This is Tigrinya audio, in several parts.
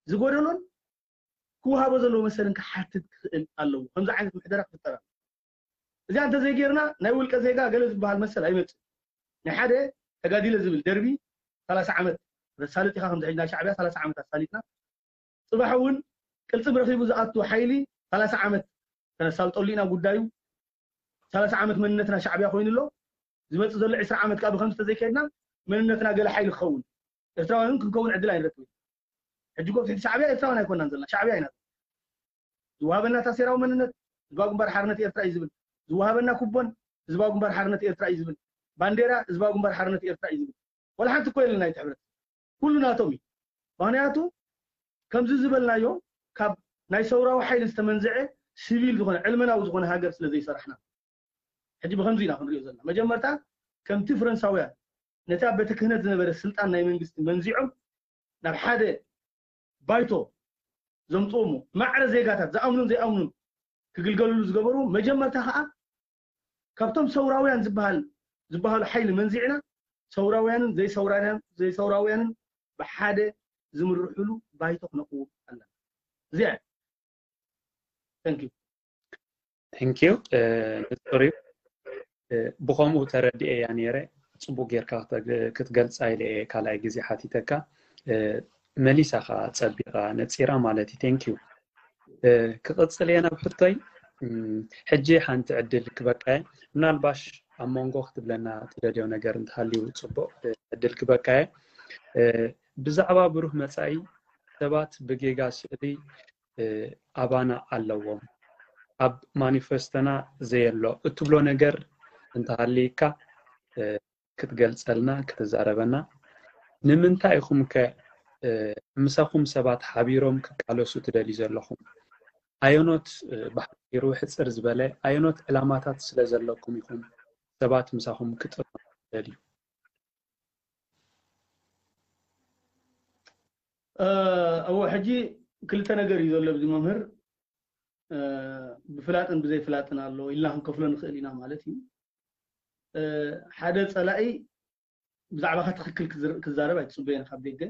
ዝጎደሎን ክወሃቦ ዘለዎ መሰልን ክሓትት ክኽእል ኣለዎ። ከምዚ ዓይነት ምሕደራ ክፍጠር ኣለዎ። እዚኣ እንተዘይጌርና ናይ ውልቀ ዜጋ ገለ ዝበሃል መሰል ኣይመጽእ። ናይ ሓደ ተጋዲለ ዝብል ደርቢ ሰላሳ ዓመት ተሳልጥ ኢኻ። ከምዚ ሕጂ ናይ ሻዕብያ ሰላሳ ዓመት ኣሳሊጥና፣ ጽባሕ እውን ቅልጽም ረኺቡ ዝኣቱ ሓይሊ ሰላሳ ዓመት ተነሳልጠሉ ኢና ጉዳዩ። ሰላሳ ዓመት መንነትና ሻዕብያ ኮይኑ ኣሎ። ዝመጽእ ዘሎ ዕስራ ዓመት ከዓ ብከምዚ ተዘይከድና መንነትና ገለ ሓይሊ ክኸውን፣ ኤርትራውያን እውን ክንከውን ዕድል ኣይንረክብን። ሕጂ እኮ ትሕቲ ሻዕብያ ኤርትራውያን ኣይኮናን ዘለና፣ ሻዕብያ ኢና። ዝወሃበና ታሴራዊ መንነት ህዝባዊ ግንባር ሓርነት ኤርትራ እዩ ዝብል፣ ዝወሃበና ኩቦን ህዝባዊ ግንባር ሓርነት ኤርትራ እዩ ዝብል፣ ባንዴራ ህዝባዊ ግንባር ሓርነት ኤርትራ እዩ ዝብል። ወላ ሓንቲ እኮ የለን ናይቲ ሕብረት፣ ኩሉ ናቶም እዩ። ምክንያቱ ከምዚ ዝበልናዮ ካብ ናይ ሰውራዊ ሓይሊ ዝተመንዝዐ ሲቪል ዝኾነ ዕልመናዊ ዝኾነ ሃገር ስለ ዘይሰራሕና ሕጂ ብከምዚ ኢና ክንሪኦ ዘለና። መጀመርታ ከምቲ ፈረንሳውያን ነቲ ኣብ ቤተ ክህነት ዝነበረ ስልጣን ናይ መንግስቲ መንዚዖም ናብ ሓደ ባይቶ ዘምፅኦሞ ማዕረ ዜጋታት ዝኣምኑን ዘይኣምኑን ክግልገሉሉ ዝገበሩ፣ መጀመርታ ከዓ ካብቶም ሰውራውያን ዝበሃል ዝበሃሉ ሓይሊ መንዚዕና ሰውራውያንን ዘይሰውራውያን ዘይሰውራውያንን ብሓደ ዝምርሕሉ ባይቶ ክነቅውም ኣለና። እዚኣ እዩ። Thank you። Thank you። ንጹር እዩ። ብኸምኡ ተረዲኤያ ነይረ። ጽቡቅ ጌርካ ክትገልጻ ኢለ እየ ካልኣይ ግዜ ሓቲተካ። መሊሳ ከኣ ጸቢቓ ነጺራ ማለት እዩ። Thank you። ክቕጽል እየ ናብ ሕቶይ። ሕጂ ሓንቲ ዕድል ክበቃየ፣ ምናልባሽ ኣብ መንጎ ክትብለና ትደልዮ ነገር እንተሃልዩ ጽቡቕ ዕድል ክበቃየ። ብዛዕባ ብሩህ መጻኢ ሰባት ብጌጋ ስእሊ ኣባና ኣለዎም። ኣብ ማኒፈስቶና ዘየሎ እትብሎ ነገር እንተሃልይካ ክትገልጸልና፣ ክትዛረበና። ንምንታይ ኢኹም ከ ምሳኹም ሰባት ሓቢሮም ክቃለሱ ትደልዩ ዘለኹም? ኣየኖት ብሓጺሩ ሕጽር ዝበለ ኣየኖት ዕላማታት ስለ ዘለኩም ኢኹም ሰባት ምሳኹም ክጥርኑ ትደልዩ? እወ ሕጂ ክልተ ነገር እዩ ዘሎ ኣብዚ መምህር። ብፍላጥን ብዘይፍላጥን ኣሎ ኢልና ክንከፍሎ ንኽእል ኢና ማለት እዩ። ሓደ ጸላኢ ብዛዕባኻ ትኽክል ክዛረብ ኣይትጽበየን ካብ ደገ።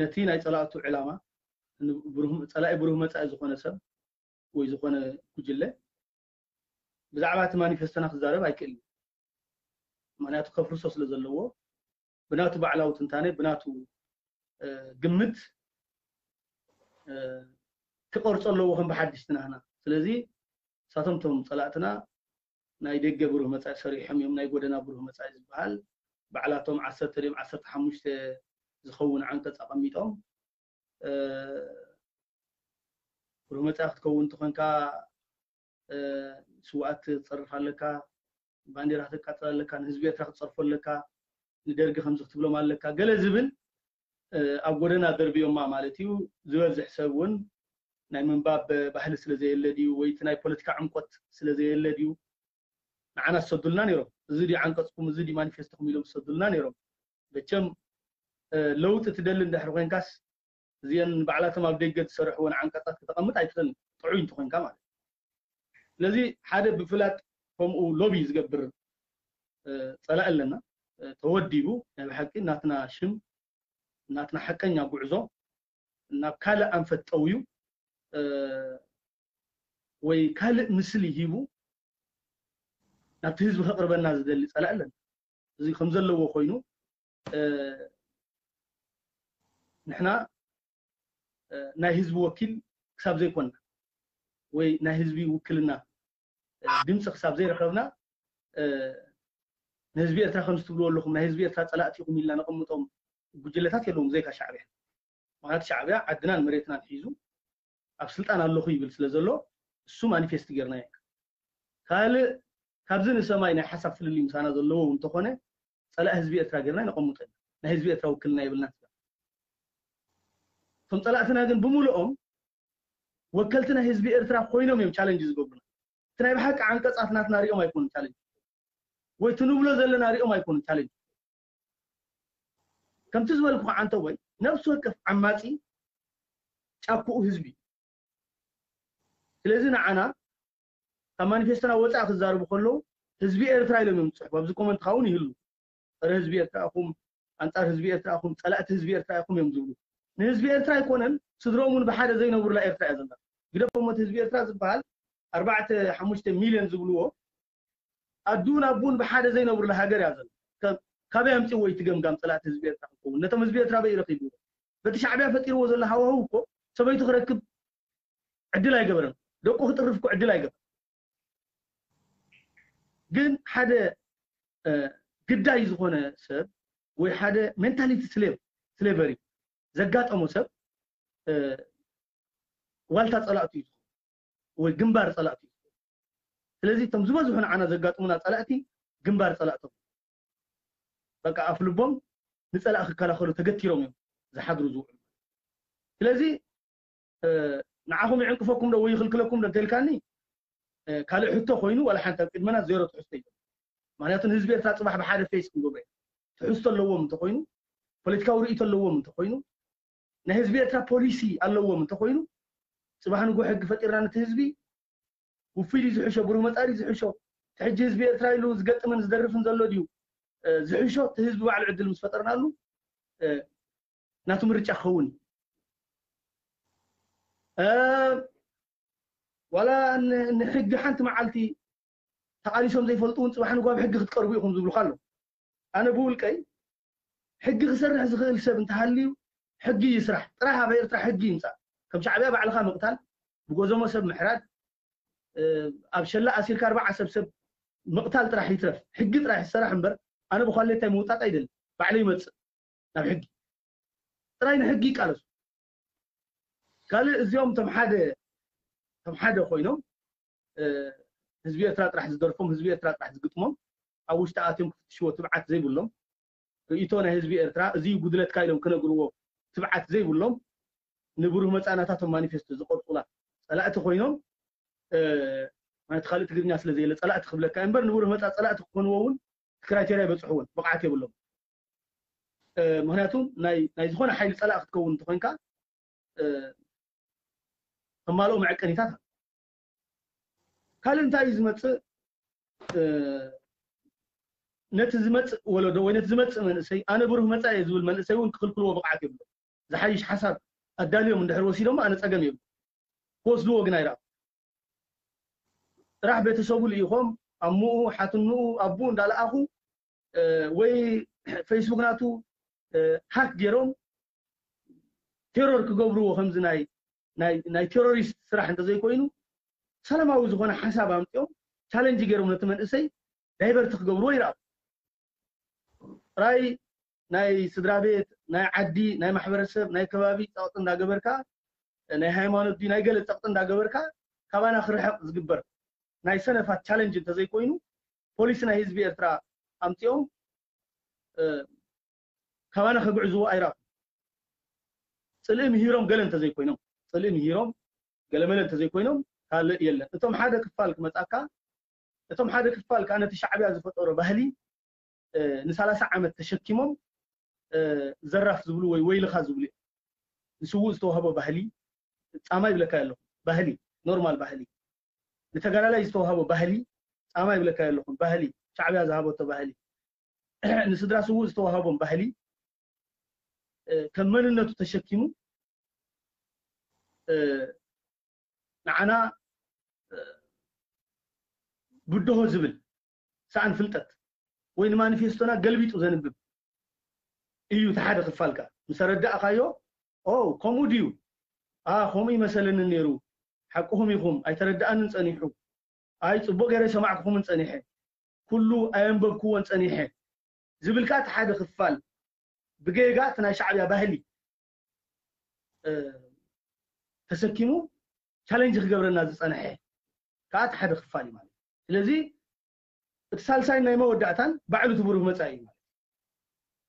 ነቲ ናይ ጸላእቱ ዕላማ ጸላኢ ብሩህ መጻኢ ዝኾነ ሰብ ወይ ዝኾነ ጉጅለ ብዛዕባ እቲ ማኒፌስቶና ክዛረብ ኣይክእልን። ምክንያቱ ከፍርሶ ስለ ዘለዎ ብናቱ ባዕላዊ ትንታነ ብናቱ ግምት ክቐርጾ ኣለዎ ከም ብሓድሽ ትናህና። ስለዚ ንሳቶም እቶም ጸላእትና ናይ ደገ ብሩህ መጻኢ ሰሪሖም እዮም። ናይ ጎደና ብሩህ መጻኢ ዝበሃል ባዕላቶም ዓሰርተ ድዮም ዓሰርተ ሓሙሽተ ዝኸውን ዓንቀጽ ኣቐሚጦም ብሩህ መጻኢ ክትከውን እንተኾንካ ስውኣት ክትጸርፍ ኣለካ፣ ባንዴራ ከተቃጽል ኣለካ፣ ንህዝቢ ኤርትራ ክትጸርፎ ኣለካ፣ ንደርጊ ከምዚ ክትብሎም ኣለካ ገለ ዝብል ኣብ ጎደና ደርብዮማ ማለት እዩ። ዝበዝሕ ሰብ እውን ናይ ምንባብ ባህሊ ስለ ዘየለ ድዩ ወይ እቲ ናይ ፖለቲካ ዕምቆት ስለ ዘየለ ድዩ ንዓና ዝሰዱልና ነይሮም። እዚ ድዩ ዓንቀጽኩም፣ እዚ ድዩ ማኒፌስቶኩም ኢሎም ዝሰዱልና ነይሮም። መቸም ለውጢ ትደሊ እንድሕር ኮይንካስ እዚአን ባዕላቶም ኣብ ደገ ዝሰርሕወን ዓንቀጻት ክተቐምጥ ኣይትኽእልን ጥዑይ እንተኾይንካ ማለት እዩ። ስለዚ ሓደ ብፍላጥ ከምኡ ሎቢ ዝገብር ጸላኢ ኣለና። ተወዲቡ ናይ ብሓቂ ናትና ሽም ናትና ሓቀኛ ጉዕዞ ናብ ካልእ ኣንፈት ጠውዩ ወይ ካልእ ምስሊ ሂቡ ናብቲ ህዝቢ ከቕርበና ዝደሊ ጸላኢ ኣለና። እዚ ከም ዘለዎ ኮይኑ ንሕና ናይ ህዝቢ ወኪል ክሳብ ዘይኮንና ወይ ናይ ህዝቢ ውክልና ድምፂ ክሳብ ዘይረኸብና ንህዝቢ ኤርትራ ከምዚ ትብልዎ ኣለኹም ናይ ህዝቢ ኤርትራ ፀላእቲ ኢኹም ኢልና ነቐምጦም ጉጅለታት የለውም ብዘይካ ሻዕብያ። ምክንያቱ ሻዕብያ ዓድናን መሬትናን ሒዙ ኣብ ስልጣን ኣለኹ ይብል ስለ ዘሎ እሱ ማኒፌስት ጌርና ኢና። ካልእ ካብዚ ንሰማይ ናይ ሓሳብ ፍልልይ ምሳና ዘለዎ እውን እንተኾነ ፀላእ ህዝቢ ኤርትራ ጌርና ነቐምጦ ኢና። ናይ ህዝቢ ኤርትራ ውክልና የብልናን። እቶም ፀላእትና ግን ብምልኦም ወከልቲ ናይ ህዝቢ ኤርትራ ኮይኖም እዮም ቻለንጅ ዝገብሩና። እቲ ናይ ብሓቂ ዓንቀፃት ናትና ሪኦም ኣይኮኑን ቻለንጅ ወይ ትንብሎ ዘለና ሪኦም ኣይኮኑን ቻለንጅ። ከምቲ ዝበልኩ ዓንተ ወይ ነፍሲ ወከፍ ዓማፂ ጫክኡ ህዝቢ። ስለዚ ንዓና ካብ ማኒፌስቶና ወፃኢ ክዛረቡ ከለዉ ህዝቢ ኤርትራ ኢሎም እዮም ዝፅሕፉ። ኣብዚ ኮመንት ኻውን ይህሉ ፀረ ህዝቢ ኤርትራ ኢኹም፣ ኣንፃር ህዝቢ ኤርትራ ኢኹም፣ ፀላእቲ ህዝቢ ኤርትራ ኢኹም እዮም ዝብሉ። ንህዝቢ ኤርትራ ኣይኮነን፣ ስድሮም እውን ብሓደ ዘይነብሩላ ኤርትራ እያ ዘላ። ግደፎም እቲ ህዝቢ ኤርትራ ዝበሃል ኣርባዕተ ሓሙሽተ ሚልዮን ዝብልዎ ኣዱን ኣቡን ብሓደ ዘይነብሩላ ሃገር እያ ዘላ። ካብ- ካበይ ኣምፅዎ እቲ ገምጋም? ፀላእቲ ህዝቢ ኤርትራ ክኸውን ነቶም ህዝቢ ኤርትራ በይ ረኪብዎ? በቲ ሻዕብያ ፈጢርዎ ዘሎ ሃዋህው እኮ ሰበይቱ ክረክብ ዕድል ኣይገበረን፣ ደቁ ክጥርፍ እኮ ዕድል ኣይገበረን። ግን ሓደ ግዳይ ዝኾነ ሰብ ወይ ሓደ ሜንታሊቲ ስሌቭ ስሌቨሪ ዘጋጠሞ ሰብ ዋልታ ፀላእቱ እዩ፣ ወይ ግንባር ፀላእቱ እዩ። ስለዚ እቶም ዝበዝሑ ንዓና ዘጋጥሙና ፀላእቲ ግንባር ፀላእቶም፣ በቃ ኣፍ ልቦም ንፀላእ ክከላኸሉ ተገቲሮም እዮም ዝሓድሩ ዝውዕሉ። ስለዚ ንዓኹም ይዕንቅፈኩም ዶ ወይ ይኽልክለኩም ዶ እንተልካኒ፣ ካልእ ሕቶ ኮይኑ ዋላ ሓንቲ ኣብ ቅድመና ዜሮ ትሕዝቶ እዩ። ምክንያቱ ንህዝቢ ኤርትራ ፅባሕ ብሓደ ፌስ ክንገብሮ እዩ። ትሕዝቶ ኣለዎም እንተኮይኑ፣ ፖለቲካዊ ርእይቶ ኣለዎም እንተኮይኑ፣ ናይ ህዝቢ ኤርትራ ፖሊሲ ኣለዎም እንተኮይኑ፣ ፅባሕ ንጎ ሕጊ ፈጢርና ነቲ ህዝቢ ውፉይ ድዩ ዝሕሾ፣ ብሩህ መፃኢ ድዩ ዝሕሾ፣ እቲ ሕጂ ህዝቢ ኤርትራ ኢሉ ዝገጥምን ዝደርፍን ዘሎ ድዩ ዝሕሾ፣ እቲ ህዝቢ ባዕሉ ዕድል ምስ ፈጠርናሉ ናቱ ምርጫ ክኸውን እዩ። ዋላ ንሕጊ ሓንቲ መዓልቲ ተቓሊሶም ዘይፈልጡ እውን ፅባሕ ንጓ ብሕጊ ክትቀርቡ ኢኹም ዝብሉካ ኣለዉ። ኣነ ብውልቀይ ሕጊ ክሰርሕ ዝኽእል ሰብ እንተሃልዩ ሕጊ ይስራሕ። ጥራሕ ኣብ ኤርትራ ሕጊ ይምፃእ። ከም ሻዕብያ ባዕልኻ ምቕታል፣ ብጎዘሞ ሰብ ምሕራድ፣ ኣብ ሸላ ኣሲርካ ኣርባዓ ሰብ ሰብ ምቕታል ጥራሕ ይትረፍ፣ ሕጊ ጥራሕ ይሰራሕ እምበር ኣነ ብኳሌታይ ምውጣጥ ኣይደልን። ባዕለይ ይመፅእ ናብ ሕጊ። ጥራይ ንሕጊ ይቃለሱ። ካልእ እዚኦም እቶም ሓደ እቶም ሓደ ኮይኖም ህዝቢ ኤርትራ ጥራሕ ዝደርፎም፣ ህዝቢ ኤርትራ ጥራሕ ዝግጥሞም፣ ኣብ ውሽጢ ኣትዮም ክፍትሽዎ ትብዓት ዘይብሎም፣ ርእይቶ ናይ ህዝቢ ኤርትራ እዚ እዩ ጉድለትካ ኢሎም ክነግርዎ ትብዓት ዘይብሎም፣ ንብሩህ መጻእናታቶም ማኒፌስቶ ዝቐርጹላ ጸላእቲ ኮይኖም፣ ማለት ካልእ ትግርኛ ስለ ዘየለ ጸላእቲ ክብለካ እምበር ንብሩህ መጻእ ጸላእቲ ክኾንዎ እውን ክራይቴርያ ይበጽሕዎን ብቕዓት የብሎም። ምክንያቱ ናይ ዝኾነ ሓይሊ ጸላእ ክትከውን እንተኮንካ ተማልኦ መዐቀኒታት ካልእ እንታይ እዩ ዝመፅእ? ነቲ ዝመፅእ ወለዶ ወይ ነቲ ዝመፅእ መንእሰይ ኣነ ብሩህ መፃኢ እየ ዝብል መንእሰይ እውን ክኽልክልዎ ብቕዓት የብሎ። ዝሓይሽ ሓሳብ ኣዳልዮም እንድሕር ወሲዶሞ ኣነ ፀገም የብሎ። ክወስድዎ ግን ኣይረኣኹ። ጥራሕ ቤተሰቡ ልኢኾም ኣምኡ ሓትንኡ ኣቡኡ እንዳለኣኹ ወይ ፌስቡክ ናቱ ሃክ ገይሮም ቴሮር ክገብርዎ ከምዚ ናይ ናይ ናይ ቴሮሪስት ስራሕ እንተዘይኮይኑ ሰላማዊ ዝኾነ ሓሳብ ኣምፅኦም ቻለንጅ ገይሮም ነቲ መንእሰይ ዳይቨርት ክገብርዎ ይረኣኹ። ጥራይ ናይ ስድራ ቤት፣ ናይ ዓዲ፣ ናይ ማሕበረሰብ፣ ናይ ከባቢ ፀቕጢ እንዳገበርካ ናይ ሃይማኖት ድዩ ናይ ገለ ፀቕጢ እንዳገበርካ ካባና ክርሕቕ ዝግበር ናይ ሰነፋት ቻለንጅ እንተዘይኮይኑ ፖሊሲ ናይ ህዝቢ ኤርትራ ኣምፂኦም ካባና ከግዕዝዎ ኣይረኣኹ። ፅልኢ ምሂሮም ገለ እንተዘይኮይኖም ፅልኢ ምሂሮም ገለመለ እንተዘይኮይኖም ካልእ የለን። እቶም ሓደ ክፋል ክመፃካ እቶም ሓደ ክፋል ከዓ ነቲ ሻዕብያ ዝፈጠሮ ባህሊ ንሳላሳ ዓመት ተሸኪሞም ዘራፍ ዝብሉ ወይ ወይልኻ ዝብሉ እዮም። ንስዉእ ዝተዋህቦ ባህሊ ፃማ ይብለካ ኣለኹ። ባህሊ ኖርማል ባህሊ ንተጋዳላይ ዝተዋህቦ ባህሊ ፃማ ይብለካ ኣለኹ። ባህሊ ሻዕብያ ዝሃበቶ ባህሊ ንስድራ ስዉእ ዝተዋህቦም ባህሊ ከም መንነቱ ተሸኪሙ ንዓና ብድሆ ዝብል ሰኣን ፍልጠት ወይ ንማኒፌስቶና ገልቢጡ ዘንብብ እዩ። እቲ ሓደ ክፋልካ ምስ ኣረዳእካዮ ኦ ከምኡ ድዩ? ኣ ከምኡ ይመሰለኒ ነይሩ። ሓቅኹም ኢኹም። ኣይተረድኣንን ጸኒሑ። ኣይ ጽቡቕ ገይረ ሰማዕኩኹምን ጸኒሐ። ኩሉ ኣየንበብክዎን ጸኒሐ ዝብል ከኣ እቲ ሓደ ክፋል ብጌጋ እቲ ናይ ሻዕብያ ባህሊ ተሰኪሙ ቻለንጅ ክገብረና ዝጸንሐ ከኣ እቲ ሓደ ክፋል እዩ ማለት እዩ። ስለዚ እቲ ሳልሳይ ናይ መወዳእታን ባዕሉ እቲ ብሩህ መጻኢ እዩ ማለት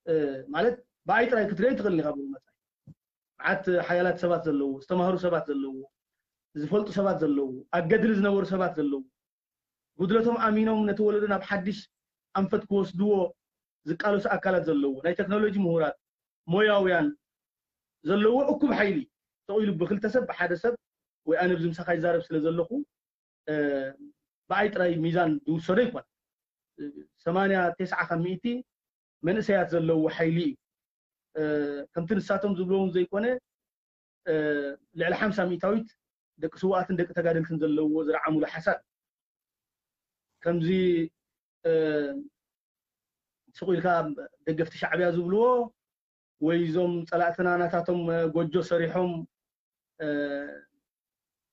እዩ። ማለት ብኣይ ጥራይ ክትሪኦ ኣይትኽእልን ኢኻ ብሩህ መጻኢ። መዓት ሓያላት ሰባት ዘለዉ፣ ዝተማህሩ ሰባት ዘለዉ፣ ዝፈልጡ ሰባት ዘለዉ፣ ኣብ ገድሊ ዝነበሩ ሰባት ዘለዉ፣ ጉድለቶም ኣሚኖም ነቲ ወለዶ ናብ ሓድሽ ኣንፈት ክወስድዎ ዝቃለሱ ኣካላት ዘለዉ፣ ናይ ቴክኖሎጂ ምሁራት፣ ሞያውያን ዘለዎ እኩብ ሓይሊ ተቑኢሉ ብክልተ ሰብ ብሓደ ሰብ ወይ ኣነ ብዚ ምሳኻ ይዛረብ ስለ ዘለኹ ብኣይ ጥራይ ሚዛን ዝውሰዶ ይኮን። ሰማንያ ተስዓ ካብ ሚእቲ መንእሰያት ዘለዎ ሓይሊ እዩ። ከምቲ ንሳቶም ዝብለውን ዘይኮነ ልዕሊ ሓምሳ ሚእታዊት ደቂ ስውኣትን ደቂ ተጋደልትን ዘለዎ ዝረዓምሉ ሓሳብ ከምዚ ስቑ ኢልካ ደገፍቲ ሻዕብያ ዝብልዎ ወይ እዞም ፀላእትና ናታቶም ጎጆ ሰሪሖም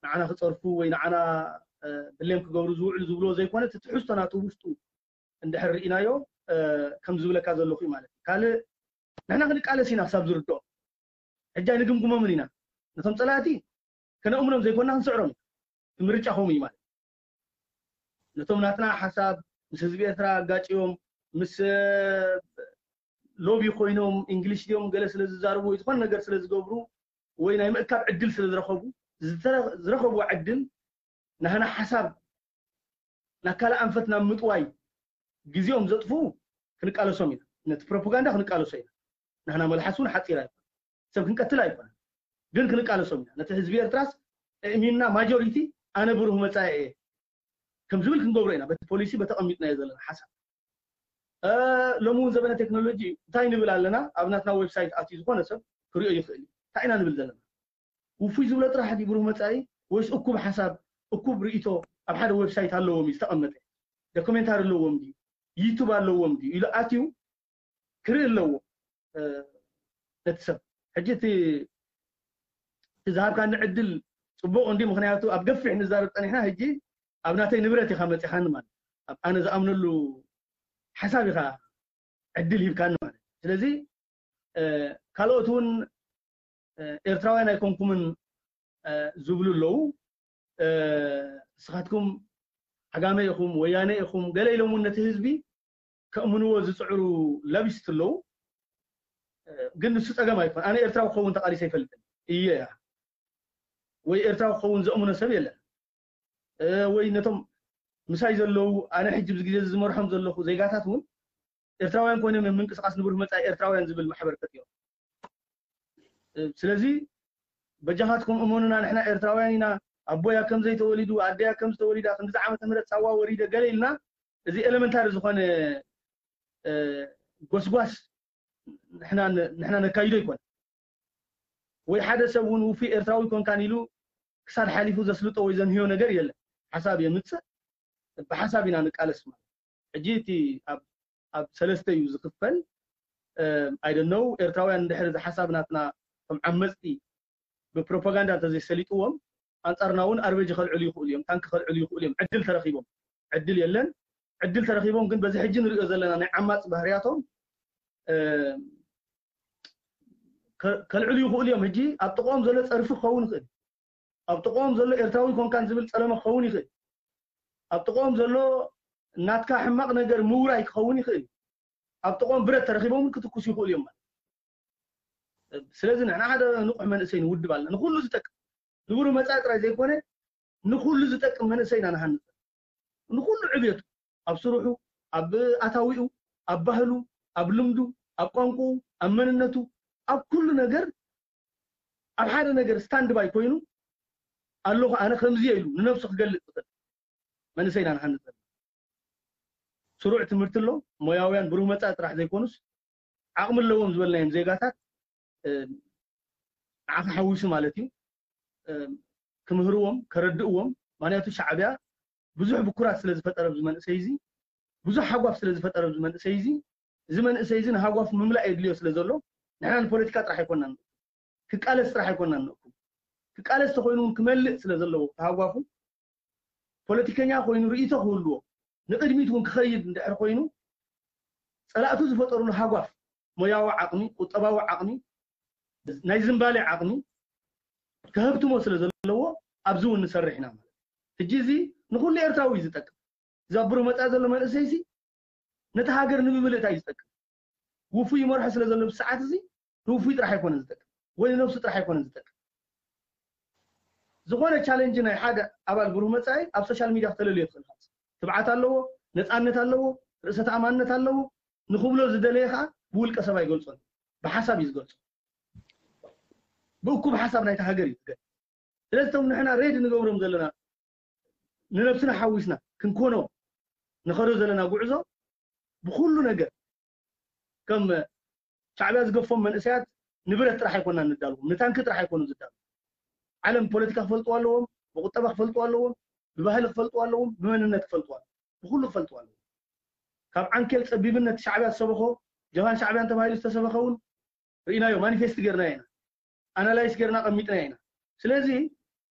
ንዓና ክፀርፉ ወይ ንዓና ብሌም ክገብሩ ዝውዕሉ ዝብልዎ ዘይኮነ እቲ ትሕዝቶ ናቱ ውሽጡ እንድሕር ርኢናዮ ከም ዝብለካ ዘለኹ እዩ ማለት እዩ። ካልእ ንሕና ክንቃለስ ኢና ክሳብ ዝርድኦ ሕጂ ኣይንግምግሞምን ኢና። ነቶም ፀላእቲ ከነእምኖም ዘይኮንና ክንስዕሮም ኢና። ምርጫ ከምኡ እዩ ማለት ነቶም ናትና ሓሳብ ምስ ህዝቢ ኤርትራ ኣጋጭዮም ምስ ሎቢ ኮይኖም እንግሊሽ ድዮም ገለ ስለ ዝዛርቡ ወይ ዝኾነ ነገር ስለ ዝገብሩ ወይ ናይ ምእካብ ዕድል ስለ ዝረኸቡ ዝረኸብዎ ዕድል ናህና ሓሳብ ናብ ካልእ ኣንፈት ናብ ምጥዋይ ግዜኦም ዘጥፍኡ ክንቃለሶም ኢና። ነቲ ፕሮፓጋንዳ ክንቃለሶ ኢና። ናህና መልሓስ እውን ሓፂር ኣይኮነ ሰብ ክንቀትል ኣይኮነ ግን ክንቃለሶም ኢና። ነቲ ህዝቢ ኤርትራስ እእሚንና ማጆሪቲ ኣነ ብሩህ መፃኢ እየ ከም ዝብል ክንገብሮ ኢና። በቲ ፖሊሲ በተቐሚጥናዮ ዘለና ሓሳብ ሎሚ እውን ዘበነ ቴክኖሎጂ እንታይ ንብል ኣለና ኣብ ናትና ዌብሳይት ኣትዩ ዝኾነ ሰብ ክሪኦ ይኽእል እዩ። እንታይ ኢና ንብል ዘለና ውፉይ ዝብሎ ጥራሕ ድዩ ብሩህ መፃኢ ወይስ እኩብ ሓሳብ እኩብ ርእቶ ኣብ ሓደ ዌብሳይት ኣለዎም እዩ ዝተቐመጠ ዶክሜንታሪ ኣለዎም ድዩ ዩቱብ ኣለዎም ድዩ ኢሉ ኣትዩ ክርኢ ኣለዎ ነቲ ሰብ ሕጂ እቲ ዝሃብካኒ ዕድል ፅቡቕ እንዲ ምክንያቱ ኣብ ገፊሕ ንዛረብ ፀኒሕና ሕጂ ኣብ ናተይ ንብረት ኢኻ መፂኻኒ ማለት ኣብ ኣነ ዝኣምነሉ ሓሳብ ኢኻ ዕድል ሂብካኒ ማለት ስለዚ ካልኦት እውን ኤርትራውያን ኣይኮንኩምን ዝብሉ ኣለዉ። ንስኻትኩም ዓጋመ ኢኹም፣ ወያነ ኢኹም፣ ገለ ኢሎም እውን ነቲ ህዝቢ ከእምንዎ ዝፅዕሩ ለቢስት ኣለዉ። ግን ንሱ ፀገም ኣይኮን። ኣነ ኤርትራዊ ክኸውን ተቓሊሰ ኣይፈልጥን እየ እያ ወይ ኤርትራዊ ክኸውን ዘእምኖ ሰብ የለን። ወይ ነቶም ምሳይ ዘለዉ ኣነ ሕጂ ብዚ ግዜ ዝመርሖም ዘለኹ ዜጋታት እውን ኤርትራውያን ኮይኖም እዮም ምንቅስቃስ ንብሩህ መጻኢ ኤርትራውያን ዝብል ማሕበር ፈጢሮም። ስለዚ በጃኻትኩም እመኑና፣ ንሕና ኤርትራውያን ኢና፣ ኣቦያ ከም ዘይተወሊዱ ኣደያ ከም ዝተወሊዳ ክንዲዚ ዓመተ ምህረት ሳዋ ወሪደ ገለ ኢልና እዚ ኤለመንታሪ ዝኾነ ጎስጓስ ንሕና ነካይዶ ይኮን ወይ ሓደ ሰብ እውን ውፉይ ኤርትራዊ ኮንካን ኢሉ ክሳድ ሓሊፉ ዘስልጦ ወይ ዘንህዮ ነገር የለን። ሓሳብ የምፅእ፣ ብሓሳብ ኢና ንቃለስ ማለት። ሕጂ እቲ ኣብ ሰለስተ እዩ ዝኽፈል። ኣይደነው ኤርትራውያን እንድሕር እዚ ሓሳብ ናትና ከም ዓመፅቲ ብፕሮፓጋንዳ እንተዘይሰሊጥዎም ኣንፃርና እውን ኣርበጂ ከልዕሉ ይኽእሉ እዮም፣ ታንክ ከልዕሉ ይኽእሉ እዮም። ዕድል ተረኺቦም ዕድል የለን። ዕድል ተረኺቦም ግን በዚ ሕጂ ንሪኦ ዘለና ናይ ዓማፅ ባህርያቶም ከልዕሉ ይኽእሉ እዮም። ሕጂ ኣብ ጥቕኦም ዘሎ ፀርፊ ክኸውን ይኽእል፣ ኣብ ጥቕኦም ዘሎ ኤርትራዊ ኮንካን ዝብል ፀለመ ክኸውን ይኽእል፣ ኣብ ጥቕኦም ዘሎ ናትካ ሕማቕ ነገር ምውራይ ክኸውን ይኽእል፣ ኣብ ጥቕኦም ብረት ተረኺቦም ክትኩስ ይኽእሉ እዮም ማለት። ስለዚ ንሕና ሓደ ንቑሕ መንእሰይ ንውድብ ኣለና፣ ንኩሉ ዝጠቅም ንብሩ መፃኢ ጥራይ ዘይኮነ ንኩሉ ዝጠቅም መንእሰይ ኢና ንሃንፅ። ንኩሉ ዕብየቱ ኣብ ስርሑ፣ ኣብ ኣታዊኡ፣ ኣብ ባህሉ፣ ኣብ ልምዱ፣ ኣብ ቋንቋኡ፣ ኣብ መንነቱ፣ ኣብ ኩሉ ነገር ኣብ ሓደ ነገር ስታንድ ባይ ኮይኑ ኣለኹ ኣነ ከምዚ ኢሉ ንነብሱ ክገልፅ ዝኽእል መንእሰይ ኢና ንሃንፅ ዘለና። ስሩዕ ትምህርቲ ኣሎ፣ ሞያውያን ብሩህ መፃኢ ጥራሕ ዘይኮኑስ ዓቕሚ ኣለዎም ዝበልናዮም ዜጋታት ንዓኻ ሓዊሱ ማለት እዩ ክምህርዎም ከረድእዎም። ምክንያቱ ሻዕብያ ብዙሕ ብኩራት ስለ ዝፈጠረ ኣብዚ መንእሰይ እዚ ብዙሕ ሃጓፍ ስለ ዝፈጠረ ኣብዚ መንእሰይ እዚ እዚ መንእሰይ እዚ ንሃጓፉ ምምላእ የድልዮ ስለ ዘሎ ንሕና ንፖለቲካ ጥራሕ ኣይኮናን ክቃለስ ጥራሕ ኣይኮናን ንእኩም ክቃለስ ተኮይኑ እውን ክመልእ ስለ ዘለዎ ተሃጓፉ ፖለቲከኛ ኮይኑ ርእይቶ ክህልዎ ንቕድሚት እውን ክኸይድ እንድሕር ኮይኑ ፀላእቱ ዝፈጠሩሉ ሃጓፍ ሞያዊ ዓቕሚ ቁጠባዊ ዓቕሚ ናይ ዝንባሌ ዓቕሚ ከህብትሞ ስለ ዘለዎ ኣብዚ እውን ንሰርሕ ኢና ማለት ሕጂ እዚ ንኩሉ ኤርትራዊ እዩ ዝጠቅም እዚ ኣብ ብሩህ መፃኢ ዘሎ መንእሰይ እዚ ነቲ ሃገር ንምምልእታ እዩ ዝጠቅም ውፉይ ይመርሖ ስለ ዘሎ ብሰዓት እዚ ንውፉይ ጥራሕ ኣይኮነን ዝጠቅም ወይ ንነብሱ ጥራሕ ኣይኮነን ዝጠቅም ዝኾነ ቻለንጅ ናይ ሓደ ኣባል ብሩህ መፃኢ ኣብ ሶሻል ሚድያ ክተለልዮ ትኽእል ትብዓት ኣለዎ ነፃነት ኣለዎ ርእሰ ተኣማንነት ኣለዎ ንክብሎ ዝደለየ ከዓ ብውልቀ ሰብ ኣይገልፆን ብሓሳብ እዩ ዝገልፆ ብእኩብ ሓሳብ ናይቲ ሃገር እዩ ዝገልፅ ስለዚ እቶም ንሕና ሬድ ንገብሮም ዘለና ንነብስና ሓዊስና ክንኮኖ ንኸዶ ዘለና ጉዕዞ ብኩሉ ነገር ከም ሻዕብያ ዝገፎም መንእሰያት ንብረት ጥራሕ ኣይኮና ንዳልዎም፣ ንታንኪ ጥራሕ ኣይኮኑ ዝዳሉ። ዓለም ፖለቲካ ክፈልጥዎ ኣለዎም፣ ብቁጠባ ክፈልጥዎ ኣለዎም፣ ብባህሊ ክፈልጥዎ ኣለዎም፣ ብመንነት ክፈልጥዎ ኣለዎም፣ ብኩሉ ክፈልጥዎ ኣለዎም። ካብ ዓንኬል ጸቢብነት ሻዕብያ ዝሰበኾ፣ ጀብሃን ሻዕብያን ተባሂሉ ዝተሰበኸ እውን ርኢናዮ፣ ማኒፌስት ጌርናዮ ኢና፣ ኣናላይስ ጌርና ቀሚጥናዮ ኢና። ስለዚ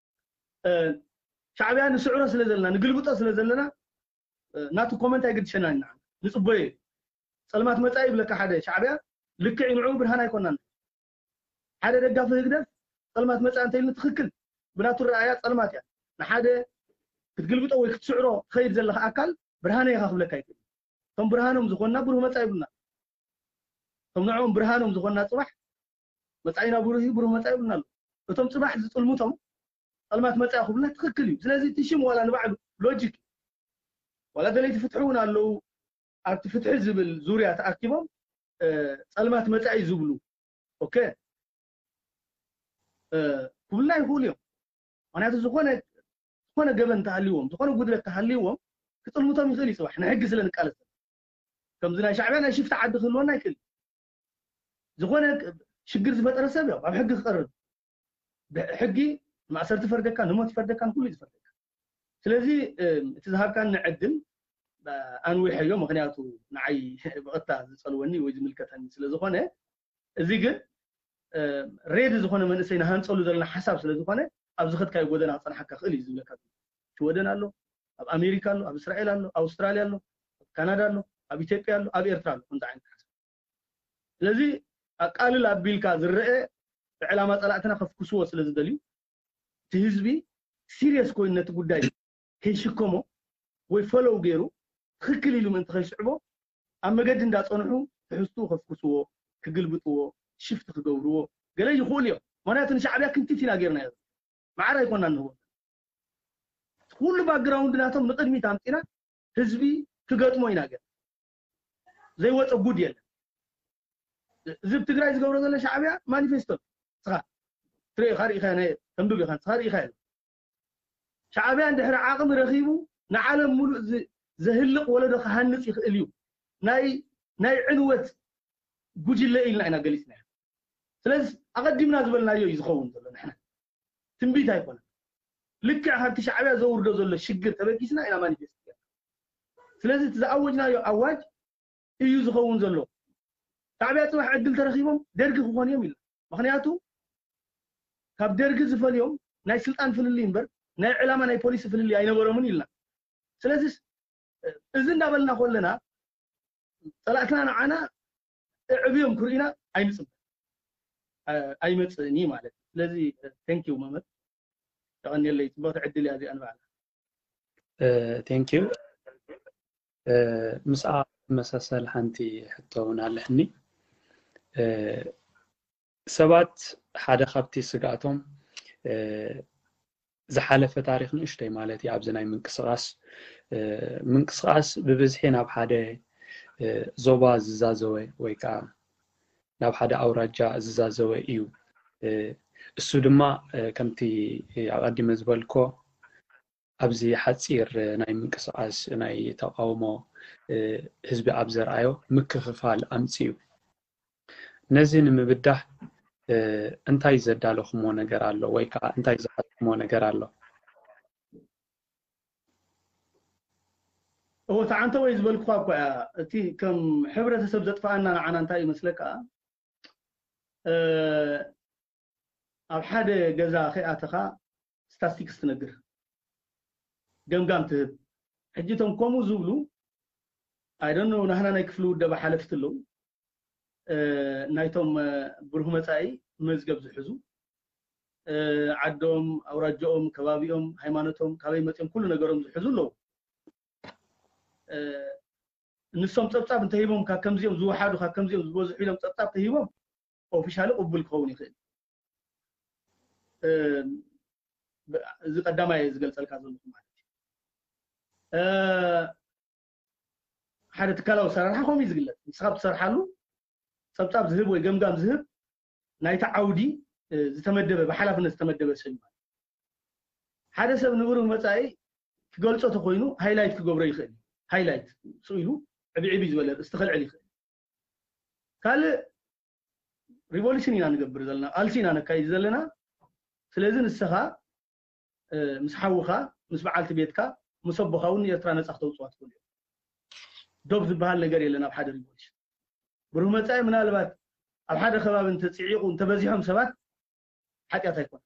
እ፣ ሻዕብያ ንስዕሮ ስለ ዘለና፣ ንግልብጦ ስለ ዘለና፣ እ፣ ናቱ ኮመንት ኣይግድሸናን ኢና። ንጽበዮ እዩ። ጸልማት መጻኢ ይብለካ ሓደ ሻዕብያ፣ ልክዕ እዩ፣ ንዕኡ ብርሃን ኣይኮናን። ሓደ ደጋፊ ህግደፍ ጸልማት መጻኢ እንተኢሉ ትኽክል፣ ብናቱ ረኣያ ጸልማት እያ። ንሓደ ክትግልብጦ ወይ ክትስዕሮ ትኸይድ ዘለኻ ኣካል ብርሃነ ኢኻ ክብለካ ይክእል። እቶም ብርሃኖም ዝኾንና ብሩህ መጻኢ ይብሉና። እቶም ንዕኦም ብርሃኖም ዝኾንና ጽባሕ መጻኢና ብሩህ እዩ፣ ብሩህ መጻኢ ይብሉና ኣሎ። እቶም ጽባሕ ዝጥልሙቶም ጸልማት መጻኢ ክብሉና ትኽክል እዩ። ስለዚ እቲ ሽም ዋላ ንባዕሉ ሎጂክ እዩ። ዋላ ደለይቲ ፍትሒ እውን ኣለዉ፣ ኣብቲ ፍትሒ ዝብል ዙርያ ተኣኪቦም፣ እ፣ ጸልማት መጻኢ ዝብሉ። ኦኬ። እ፣ ክብሉና ይኽእሉ እዮም። ምኽንያቱ ዝኾነ፣ ዝኾነ ገበን እንተሃልይዎም፣ ዝኾነ ጉድለት እንተሃልይዎም፣ ክጥልሙቶም ይኽእል እዩ ጽባሕ፣ ንሕጊ ስለ ንቃለስ። ከምዚ ናይ ሻዕብያ ናይ ሽፍታ ዓዲ ክህልወና ይኽእል እዩ። ዝኾነ ሽግር ዝፈጠረ ሰብ ያው ኣብ ሕጊ ክቐርብ። ብሕጊ ማእሰርቲ ይፈርደካ፣ ንሞት ይፈርደካ፣ ንኩሉ እዩ ዝፈርደካ። ስለዚ፣ እ፣ እቲ ዝሃብካኒ ዕድል፣ እ፣ ኣንዊሐዮ፣ ምኽንያቱ ንዓይ ብቐጥታ ዝጸልወኒ ወይ ዝምልከተኒ ስለ ዝኾነ፣ እዚ ግን፣ እ፣ ሬዲ ዝኾነ መንእሰይ ንሃንጸሉ ዘለና ሓሳብ ስለ ዝኾነ፣ ኣብ ዝኸድካዮ ጎደና ክጸንሓካ ክእል እዩ ዝብለካ። ሽወደን ኣሎ፣ ኣብ ኣሜሪካ ኣሎ፣ ኣብ እስራኤል ኣሎ፣ ኣብ ኣውስትራልያ ኣሎ፣ ኣብ ካናዳ ኣሎ፣ ኣብ ኢትዮጵያ ኣሎ፣ ኣብ ኤርትራ ኣሎ፣ ከምዚ ዓይነት ሓሳብ። ስለዚ ኣቃልል ኣቢልካ ዝረአ ብዕላማ ጸላእትና ከፍኩስዎ ስለ ዝደልዩ፣ እቲ ህዝቢ ሲሪየስ ኮይኑ ነቲ ጉዳይ ከይሽከሞ ወይ ፈለው ገይሩ ትኽክል ኢሉ ምእንቲ ከይስዕቦ ኣብ መገዲ እንዳጸንሑ ትሕዝትኡ ከፍኩስዎ፣ ክግልብጥዎ፣ ሽፍት ክገብርዎ ገለ ይኽእሉ እዮም። ምኽንያቱ ንሻዕብያ ክንቲት ኢና ጌርናዮ። ማዕረ ኣይኮና ንህቦ። ኩሉ ባክግራውንድ ናቶም ንቕድሚት ኣምጺና ህዝቢ ክገጥሞ ኢና ገር ዘይወፀ ጉድ የለን። እዚ ኣብ ትግራይ ዝገብሮ ዘሎ ሻዕብያ ማኒፌስቶ ስኻ ትርኢ ኢኻ፣ ርኢኻ፣ ናይ ተንብብ ኢኻ፣ ንስኻ ርኢኻ የለ። ሻዕብያ እንድሕሪ ዓቕሚ ረኺቡ ንዓለም ሙሉእ ዝ-፣ ዘህልቕ ወለዶ ክሃንጽ ይኽእል እዩ። ናይ፣ ናይ ዕንወት ጉጅለ ኢልና ኢና ገሊጽናዮ። ስለዚ ኣቐዲምና ዝበልናዮ እዩ ዝኸውን ዘሎ። ንሕና ትንቢት ኣይኮነን። ልክዕ ካብቲ ሻዕብያ ዘውርዶ ዘሎ ሽግር ተበጊስና ኢና ማኒፌስት ገርና። ስለዚ እቲ ዝኣወጅናዮ ኣዋጅ እዩ ዝኸውን ዘሎ። ሻዕብያ ጽባሕ ዕድል ተረኺቦም ደርጊ ክኾኑ እዮም ኢልና። ምኽንያቱ ካብ ደርጊ ዝፈልዮም ናይ ስልጣን ፍልልይ እምበር ናይ ዕላማ ናይ ፖሊሲ ፍልልይ ኣይነበሮምን ኢልና። ስለዚ እዚ እንዳበልና ከለና ጸላእትና ንዓና እዕብዮም ክርእዩና ኣይንጽበ፣ እ፣ ኣይመጽእን እዩ ማለት እዩ። ስለዚ፣ እ፣ ቴንክ ዩ መምህር፣ የቐንየለይ። ጽብቕቲ ዕድል እያ እዚኣ ንባዕላ። ቴንክ ዩ። ምስኣ መሳሰል ሓንቲ ሕቶ እውን ኣለሕኒ። እ፣ ሰባት ሓደ ካብቲ ስግኣቶም፣ እ፣ ዝሓለፈ ታሪኽ ንእሽተይ ማለት እዩ። ኣብዚ ናይ ምንቅስቓስ፣ እ፣ ምንቅስቓስ ብብዝሒ ናብ ሓደ፣ እ፣ ዞባ ዝዛዘወ ወይ ከዓ ናብ ሓደ ኣውራጃ ዝዛዘወ እዩ። እ፣ እሱ ድማ፣ እ፣ ከምቲ ኣቐዲመ ዝበልኮ ኣብዚ ሓፂር ናይ ምንቅስቓስ ናይ ተቃውሞ፣ እ፣ ህዝቢ ኣብ ዘርኣዮ ምክፍፋል ኣምፅኡ። ነዚ ንምብዳህ፣ እ፣ እንታይ ዘዳለኹሞ ነገር ኣሎ ወይ ከዓ እንታይ ዝሓዝኩሞ ነገር ኣሎ? እወ፣ ተዓንተ ወይ ዝበልኩኻ እኮ እያ። እቲ ከም ሕብረተሰብ ዘጥፍኣና ንዓና እንታይ ይመስለካ? እ፣ ኣብ ሓደ ገዛ ከይኣተኻ ስታስቲክስ ትነግር፣ ገምጋም ትህብ። ሕጂ እቶም ከምኡ ዝብሉ፣ I don't know፣ ናህና ናይ ክፍሊ ውደባ ሓለፍቲ ኣለዉ። እ፣ ናይቶም፣ እ፣ ብሩህ መጻኢ መዝገብ ዝሕዙ፣ እ፣ ዓዶም፣ ኣውራጃኦም፣ ከባቢኦም፣ ሃይማኖቶም፣ ካበይ መጺኦም፣ ኩሉ ነገሮም ዝሕዙ ኣለዉ። እ፣ ንሶም ጸብጻብ እንተሂቦም፣ ካብ ከምዚኦም ዝወሓዱ፣ ካብ ከምዚኦም ዝበዝሑ ኢሎም ጸብጻብ ተሂቦም፣ ኦፊሻሊ ቅቡል ክኸውን ይኽእል። እ፣ ብ-፣ እዚ ቀዳማይ ዝገልጸልካ ዘለኹ ማለት እዩ። እ፣ ሓደ ትካላዊ ኣሰራርሓ ከምኡ እዩ ዝግለጽ። ንስኻ ብትሰርሓሉ ጸብጻብ ዝህብ ወይ ገምጋም ዝህብ ናይቲ ዓውዲ፣ እ፣ ዝተመደበ፣ ብሓላፍነት ዝተመደበ ሰብ እዩ ማለት እዩ። ሓደ ሰብ ንብሩህ መጻኢ ክገልጾ ተኾይኑ ሃይላይት ክገብሮ ይኽእል እዩ። ሃይላይት ስኢሉ ዕብዕብ ዝበለ ርእስቲ ከልዕል ይኽእል። ካልእ ሪቮሉሽን ኢና ንገብር ዘለና፣ ቃልሲ ኢና ነካይድ ዘለና። ስለዚ ንስኻ ምስ ሓውኻ፣ ምስ በዓልቲ ቤትካ፣ ምስ ኣቦኻ እውን ንኤርትራ ነፃ ክተውፅዋ ትኽእሉ እዮም። ዶብ ዝበሃል ነገር የለን ኣብ ሓደ ሪቮሉሽን። ብሩህ መፃኢ ምናልባት ኣብ ሓደ ከባቢ እንተፅዒቑ እንተበዚሖም ሰባት ሓጢኣት ኣይኮነን።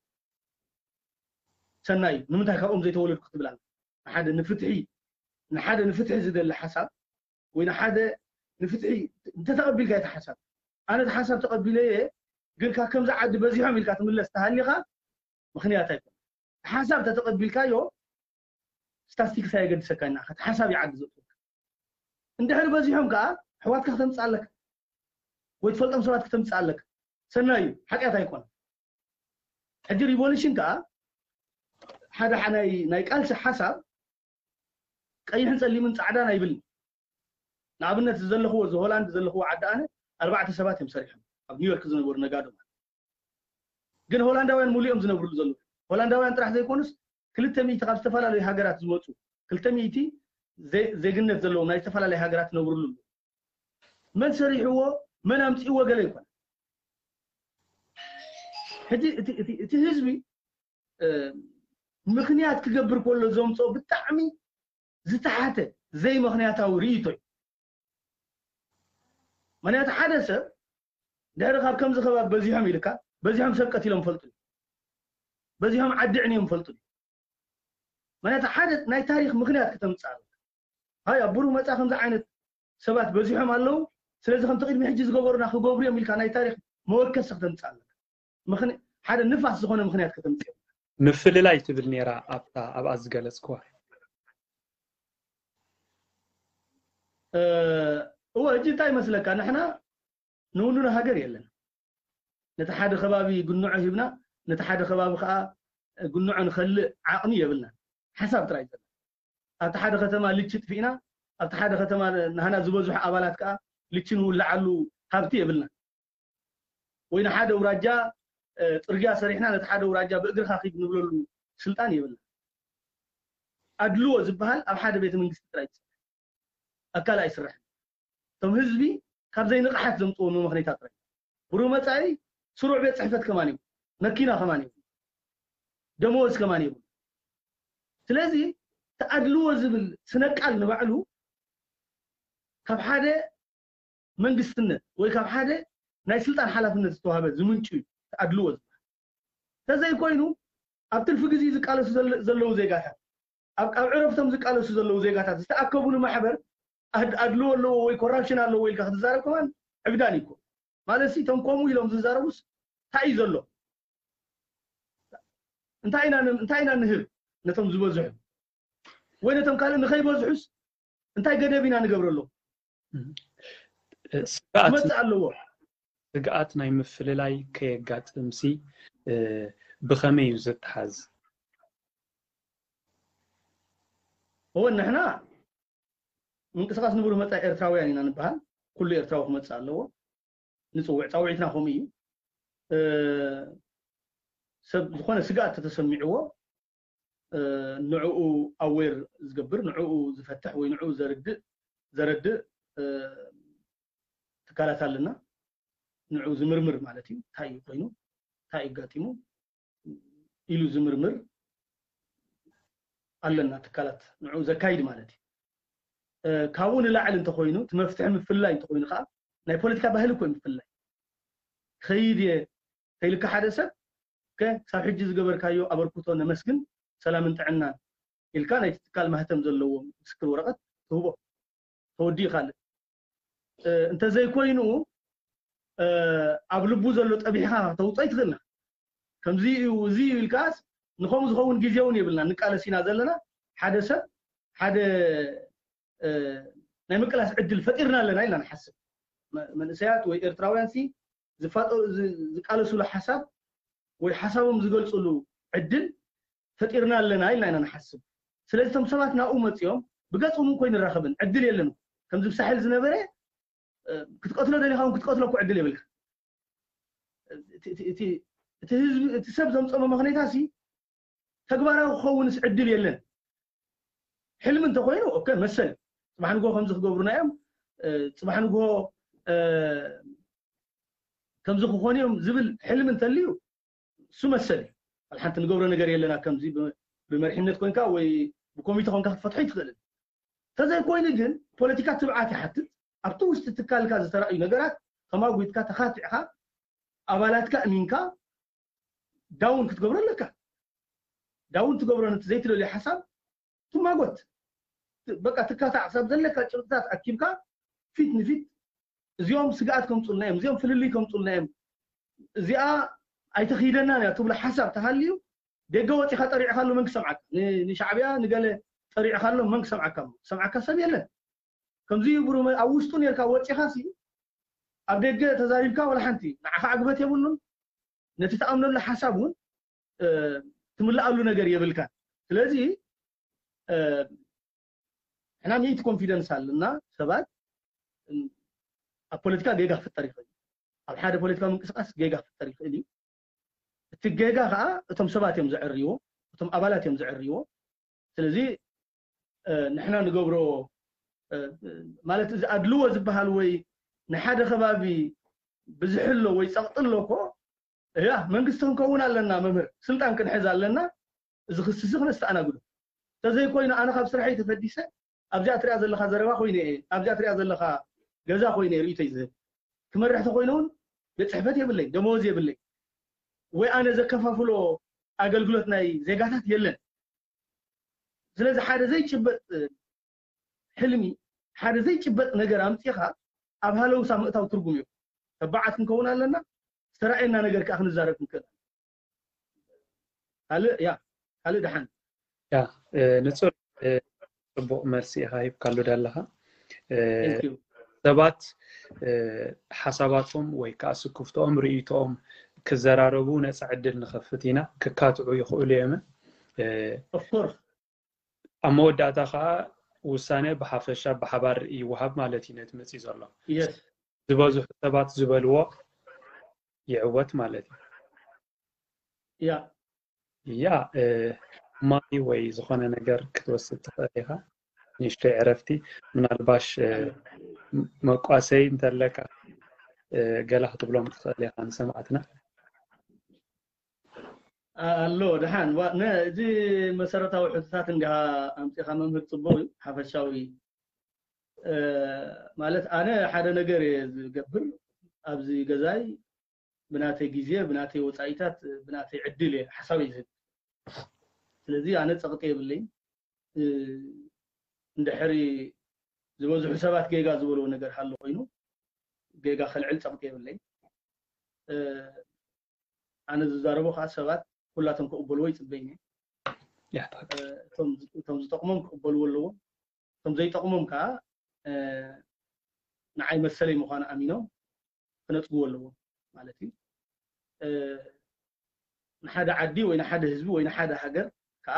ሰናይ እዩ። ንምንታይ ካብኦም ዘይተወለድኩ ክትብል ኣለ? ንሓደ ንፍትሒ ንሓደ ንፍትሒ ዝደሊ ሓሳብ ወይ ንሓደ ንፍትሒ እንተተቐቢልካ እቲ ሓሳብ፣ ኣነ እቲ ሓሳብ ተቐቢለየ ግን ካብ ከምዚ ዓዲ በዚሖም ኢልካ ትምለስ ተሃሊኻ ምኽንያት ኣይኮነ። ሓሳብ ተተቐቢልካዮ ስታስቲክስ ኣየገድሰካ ኢና እቲ ሓሳብ ይዓዲ ዘጥወካ። እንድሕር በዚሖም ከዓ ኣሕዋትካ ክተምፅእ ኣለካ ወይ ትፈልጦም ሰባት ክተምፅእ ኣለካ። ሰናይ እዩ፣ ሓጢኣት ኣይኮነ። ሕጂ ሪቮሉሽን ከዓ ሓደ ናይ ቃልሲ ሓሳብ ቀይሕን ፀሊምን ፃዕዳን ኣይብልን። ንኣብነት ዘለኽዎ እዚ ሆላንድ ዘለኽዎ ዓዲ ኣነ ኣርባዕተ ሰባት እዮም ሰሪሖም ኣብ ኒውዮርክ ዝነበሩ ነጋዶ ማለት። ግን ሆላንዳውያን ሙሉ እዮም ዝነብርሉ ዘለዉ። ሆላንዳውያን ጥራሕ ዘይኮኑስ ክልተ ሚእቲ ካብ ዝተፈላለዩ ሃገራት ዝመፁ ክልተ ሚእቲ ዜግነት ዘለዎም ናይ ዝተፈላለዩ ሃገራት ዝነብርሉ ኣለዉ። መን ሰሪሕዎ መን ኣምፅእዎ ገለ ይኮነ። ሕጂ እቲ ህዝቢ ምኽንያት ክገብር ከሎ ዘምፅኦ ብጣዕሚ ዝተሓተ ዘይምኽንያታዊ ርእይቶ እዩ። ምኽንያቱ ሓደ ሰብ ድሕሪ ካብ ከምዚ ከባቢ በዚሖም ኢልካ በዚሖም ሰብ ቀቲሎም ፈልጡ፣ በዚሖም ዓዲ ዕንዮም ፈልጡ። ምኽንያቱ ሓደ ናይ ታሪክ ምኽንያት ከተምፅእ ኣለካ። ሃይ ኣብ ብሩህ መፃ ከምዚ ዓይነት ሰባት በዚሖም ኣለዉ፣ ስለዚ ከምቲ ቅድሚ ሕጂ ዝገበሩና ክገብሩ እዮም ኢልካ ናይ ታሪክ መወከሲ ከተምፅእ ኣለካ። ሓደ ንፋስ ዝኾነ ምኽንያት ከተምፅእ። ምፍልላይ ትብል ነይራ ኣብታ ኣብኣ ዝገለፅክዋ። እወ፣ እጂ እንታይ ይመስለካ፣ ንሕና ንውንኖ ሃገር የለን። ነቲ ሓደ ከባቢ ግንዖ ሂብና ነቲ ሓደ ከባቢ ከዓ ግንዖ ንኸልእ ዓቕሚ የብልና። ሓሳብ ጥራይ ዘለ ኣብቲ ሓደ ከተማ ልቺ ጥፊእና ኣብቲ ሓደ ከተማ ናህና ዝበዝሑ ኣባላት ከዓ ልቺ ንውልዓሉ ሃብቲ የብልና። ወይ ንሓደ ውራጃ ፅርግያ ሰሪሕና ነቲ ሓደ ውራጃ ብእግርካ ኪድ ንብለሉ ስልጣን የብልና። ኣድልዎ ዝበሃል ኣብ ሓደ ቤተ መንግስቲ ጥራይ ይሰርሕ፣ ኣካል ኣይስራሕን። እቶም ህዝቢ ካብ ዘይንቕሓት ዘምፅዎ መመኽነይታ ጥራይ። ብሩህ መፃኢ ስሩዕ ቤት ፅሕፈት ከማን ይብሉ፣ መኪና ከማን ይብሉ፣ ደመወዝ ከማን ይብሉ። ስለዚ ተኣድልዎ ዝብል ስነቃል ንባዕሉ ካብ ሓደ መንግስትነት ወይ ካብ ሓደ ናይ ስልጣን ሓላፍነት ዝተዋህበ ዝምንጩ እዩ ተኣድልዎ ዝበሃል። እንተዘይኮይኑ ኣብ ትርፊ ግዜ ዝቃለሱ ዘለዉ ዜጋታት ኣብ ዕረፍቶም ዝቃለሱ ዘለዉ ዜጋታት ዝተኣከቡሉ ማሕበር ኣድልዎ ኣለዎ ወይ ኮራፕሽን ኣለዎ ኢልካ ክትዛረብ ከማን ዕብዳን እዩ። ማለት ሲ እቶም ከምኡ ኢሎም ዝዛረቡስ እንታይ እዩ ዘሎ? እንታይ ኢና እንታይ ኢና ንህብ ነቶም ዝበዝሑ ወይ ነቶም ካልእ ንኸይበዝሑስ እንታይ ገደብ ኢና ንገብረሎም? ስግኣት ክመፅእ ኣለዎ። ስግኣት ናይ ምፍልላይ ከየጋጥምሲ ብኸመይ እዩ ዘተሓዝ? እወ ንሕና ምንቅስቃስ ንብሩህ መፃኢ ኤርትራውያን ኢና ንበሃል። ኩሉ ኤርትራዊ ክመፅእ ኣለዎ። ንፅውዕ ፃውዒትና ከምኡ እዩ። ሰብ ዝኾነ ስግኣት ተተሰሚዕዎ ንዕኡ ኣዌር ዝገብር ንዕኡ ዝፈትሕ ወይ ንዕኡ ዘርድእ ዘረድእ ትካላት ኣለና። ንዕኡ ዝምርምር ማለት እዩ። እንታይ እዩ ኮይኑ እንታይ እዩ ኣጋጢሙ ኢሉ ዝምርምር ኣለና ትካላት ንዕኡ ዘካይድ ማለት እዩ። ካብኡ ንላዕሊ እንተኮይኑ እቲ መፍትሒ ምፍልላይ እንተኮይኑ ከዓ ናይ ፖለቲካ ባህሊ እኮ ምፍልላይ ከይድ እየ ከይልካ ሓደ ሰብ ክሳብ ሕጂ ዝገበርካዮ ኣበርክቶ ነመስግን ሰላምን ጥዕናን ኢልካ ናይቲ ትካል ማህተም ዘለዎ ምስክር ወረቀት ትህቦ ተወዲኡ ካልእ እንተዘይኮይኑ ኣብ ልቡ ዘሎ ጠቢሕካ ተውፅኦ ይትኽእልና ከምዚ እዩ እዚ እዩ ኢልካስ ንኸምኡ ዝኸውን ግዜ እውን የብልና ንቃለስ ኢና ዘለና ሓደ ሰብ ሓደ ናይ ምቅላስ ዕድል ፈጢርና ኣለና ኢልና ንሓስብ መንእሰያት ወይ ኤርትራውያን ሲ ዝቃለሱሉ ሓሳብ ወይ ሓሳቦም ዝገልፅሉ ዕድል ፈጢርና ኣለና ኢልና ኢና ንሓስብ ስለዚ እቶም ሰባት ናብኡ መፂኦም ብገፅም እኮ ይንራኸብን ዕድል የለን ከምዚ ብሳሕል ዝነበረ ክትቀትሎ ደሊኻ ክትቀትሎ እኮ ዕድል የብልካ እቲ ህዝቢ እቲ ሰብ ዘምፀሞ መኽኔታ ሲ ተግባራዊ ክኸውንስ ዕድል የለን ሕልሚ እንተኮይኑ ኦከ መሰል ፅባሕ ንግሆ ከምዚ ክገብሩና እዮም ፅባሕ ንግሆ ከምዚ ክኾኑ እዮም ዝብል ሕልሚ እንተልዩ እሱ መሰል እዩ። ሓንቲ ንገብሮ ነገር የለና። ከምዚ ብመሪሕነት ኮንካ ወይ ብኮሚቴ ኮንካ ክትፈትሖ ይትኽእልን። ተዘይኮይኑ ግን ፖለቲካ ትብዓት ይሓትት። ኣብቲ ውሽጢ ትካልካ ዝተራእዩ ነገራት ተማጒትካ ተኻቲዕካ ኣባላትካ እሚንካ ዳውን ክትገብሮ ኣለካ። ዳውን ትገብሮ ነቲ ዘይትደልዮ ሓሳብ ትማጎት። በቃ ትካታዕ ክሳብ ዘለካ ጭብጥታት ኣኪብካ ፊት ንፊት እዚኦም ስግኣት ከምፁልና እዮም፣ እዚኦም ፍልልይ ከምፁልና እዮም፣ እዚኣ ኣይተኽይደናን እያ ትብሎ ሓሳብ ተሃልዩ ደገ ወፂኻ ጠሪዕካሉ መን ክሰምዓካ? ንሻዕብያ ንገለ ጠሪዕካሎም መን ክሰምዓካ? ክሰምዓካ ሰብ የለን። ከምዚ ብሩ ኣብ ውሽጡ ነርካ ወፂኻ ሲ ኣብ ደገ ተዛሪብካ ወላ ሓንቲ ንዓኻ ዕግበት የብሉን። ነቲ ተኣምነሉ ሓሳብ እውን ትምልኣሉ ነገር የብልካ። ስለዚ ሕና ሚእቲ ኮንፊደንስ ኣለና ሰባት ኣብ ፖለቲካ ጌጋ ክፍጠር ይኽእል እዩ። ኣብ ሓደ ፖለቲካዊ ምንቅስቃስ ጌጋ ክፍጠር ይኽእል እዩ። እቲ ጌጋ ከዓ እቶም ሰባት እዮም ዘዕርይዎ፣ እቶም ኣባላት እዮም ዘዕርይዎ። ስለዚ ንሕና ንገብሮ ማለት እዚ ኣድልዎ ዝበሃል ወይ ንሓደ ከባቢ ብዝሕሎ ወይ ፀቕጥሎ እኮ እያ መንግስቲ ክንከውን ኣለና፣ መምህር ስልጣን ክንሕዝ ኣለና፣ እዚ ክስሲ ክነስተኣናግዶ። ተዘይኮይኑ ኣነ ካብ ስራሐይ ተፈዲሰ ኣብዚኣ ትሪኣ ዘለካ ዘረባ ኮይነ እየ፣ ኣብዚኣ ትሪኣ ዘለካ ገዛ ኮይነ እየ ርእይቶይ ዝህብ። ክመርሕ ተኮይነ እውን ቤት ፅሕፈት የብለይ፣ ደመወዝ የብለይ፣ ወይ ኣነ ዘከፋፍሎ ኣገልግሎት ናይ ዜጋታት የለን። ስለዚ ሓደ ዘይጭበጥ ሕልሚ፣ ሓደ ዘይጭበጥ ነገር ኣምፂኻ ኣብ ሃለውሳ ምእታው ትርጉም እዩ። ተባዓት ክንከውን ኣለና፣ ዝተራእየና ነገር ከዓ ክንዛረብ ክንክእል። ካልእ ያ ካልእ ደሓን ያ ንፁር ፅቡቕ መልሲ ኢኻ ሂብካሉ ዘለኻ። ሰባት ሓሳባቶም ወይ ከዓ ስክፍቶኦም ርእይቶኦም ክዘራረቡ ነፃ ዕድል ንኸፍት ኢና። ክካትዑ ይኽእሉ እዮም። ኦፍኮርስ ኣብ መወዳእታ ከዓ ውሳነ ብሓፈሻ ብሓባር ይወሃብ ማለት እዩ። ነቲ መፅኢ ዘሎ ዝበዝሑ ሰባት ዝበልዎ ይዕወት ማለት እዩ። ያ ያ ማይ ወይ ዝኾነ ነገር ክትወስድ ትኽእል ኢኻ። ንእሽተይ ዕረፍቲ ምናልባሽ መቋሰይ እንተለካ ገላ ክትብሎም ትኽእል ኢኻ ንሰማዕትና። ኣሎ ደሓን እዚ መሰረታዊ ሕቶታት እንዲኻ ኣምፂኻ መምህር ፅቡቅ እዩ ሓፈሻዊ ማለት ኣነ ሓደ ነገር እየ ዝገብር ኣብዚ ገዛይ ብናተይ ግዜ ብናተይ ወፃኢታት ብናተይ ዕድል እየ ሓሳብ እየ ዝህብ ስለዚ ኣነ ፀቕጢ የብለይ እንድሕሪ ዝበዝሑ ሰባት ጌጋ ዝበልዎ ነገር ሃሎ ኮይኑ ጌጋ ከልዕል ፀቕጢ የብለይ ኣነ ዝዛረቦ ከዓ ሰባት ኩላቶም ክቕበልዎ ይፅበይኒ እቶም ዝጠቕሞም ክቕበልዎ ኣለዎም እቶም ዘይጠቕሞም ከዓ ንዓይ መሰለይ ምዃኑ ኣሚኖም ክነፅግዎ ኣለዎም ማለት እዩ ንሓደ ዓዲ ወይ ንሓደ ህዝቢ ወይ ንሓደ ሃገር ከዓ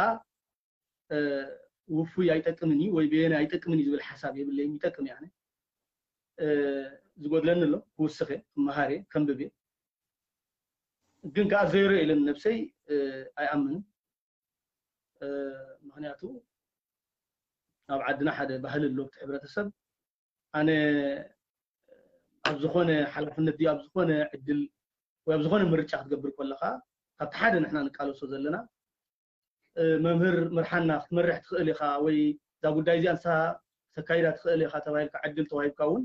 ውፉይ ኣይጠቅምን እዩ ወይ በየነ ኣይጠቅምን እዩ ዝብል ሓሳብ የብለይም ይጠቅም እያ ዝጎድለኒ ኣሎ ክውስኸ ክመሃር ከንብብ ግን ከዓ ዜሮ ኢለን ነብሰይ ኣይኣምንን ምክንያቱ ኣብ ዓድና ሓደ ባህሊ ኣሎ እቲ ሕብረተሰብ ኣነ ኣብ ዝኾነ ሓላፍነት ድዩ ኣብ ዝኾነ ዕድል ወይ ኣብ ዝኾነ ምርጫ ክትገብር ከለካ ካብቲ ሓደ ንሕና ንቃለሶ ዘለና መምህር ምርሓና ክትመርሕ ትኽእል ኢኻ ወይ እዛ ጉዳይ እዚኣ ንስኻ ተካይዳ ትኽእል ኢኻ ተባሂልካ ዕድል ተዋሂብካ እውን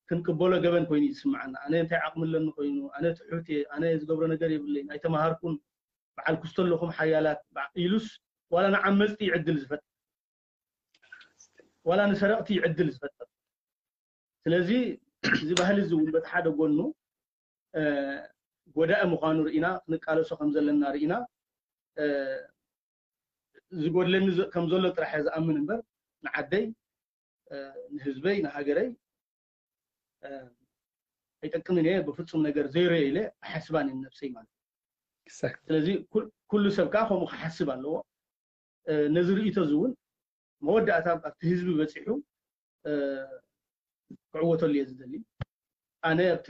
ክንቅበሎ ገበን ኮይኑ እዩ ዝስምዓና ኣነ እንታይ ዓቕሚ ኣለኒ ኮይኑ ኣነ ትሑት እየ ኣነ ዝገብሮ ነገር የብለይን ኣይተማሃርኩን በዓል ክስቶ ኣለኹም ሓያላት ኢሉስ ዋላ ንዓመፅቲ እዩ ዕድል ዝፈጥር ዋላ ንሰረቕቲ እዩ ዕድል ዝፈጥር ስለዚ እዚ ባህሊ እዚ እውን በቲ ሓደ ጎኑ ጎዳኢ ምዃኑ ርኢና ክንቃለሶ ከም ዘለና ርኢና ዝጎድለኒ ከም ዘሎ ጥራሕ እየ ዝኣምን እምበር ንዓደይ ንህዝበይ ንሃገረይ ኣይጠቅምን እየ ብፍፁም ነገር ዘይረ ኢለ ኣሓስባን እየ ነብሰይ ማለት ስለዚ ኩሉ ሰብ ከዓ ከምኡ ክሓስብ ኣለዎ ነዚ ርእቶ እዚ እውን መወዳእታ ኣብቲ ህዝቢ በፂሑ ክዕወተሉ እየ ዝደሊ ኣነ ኣብቲ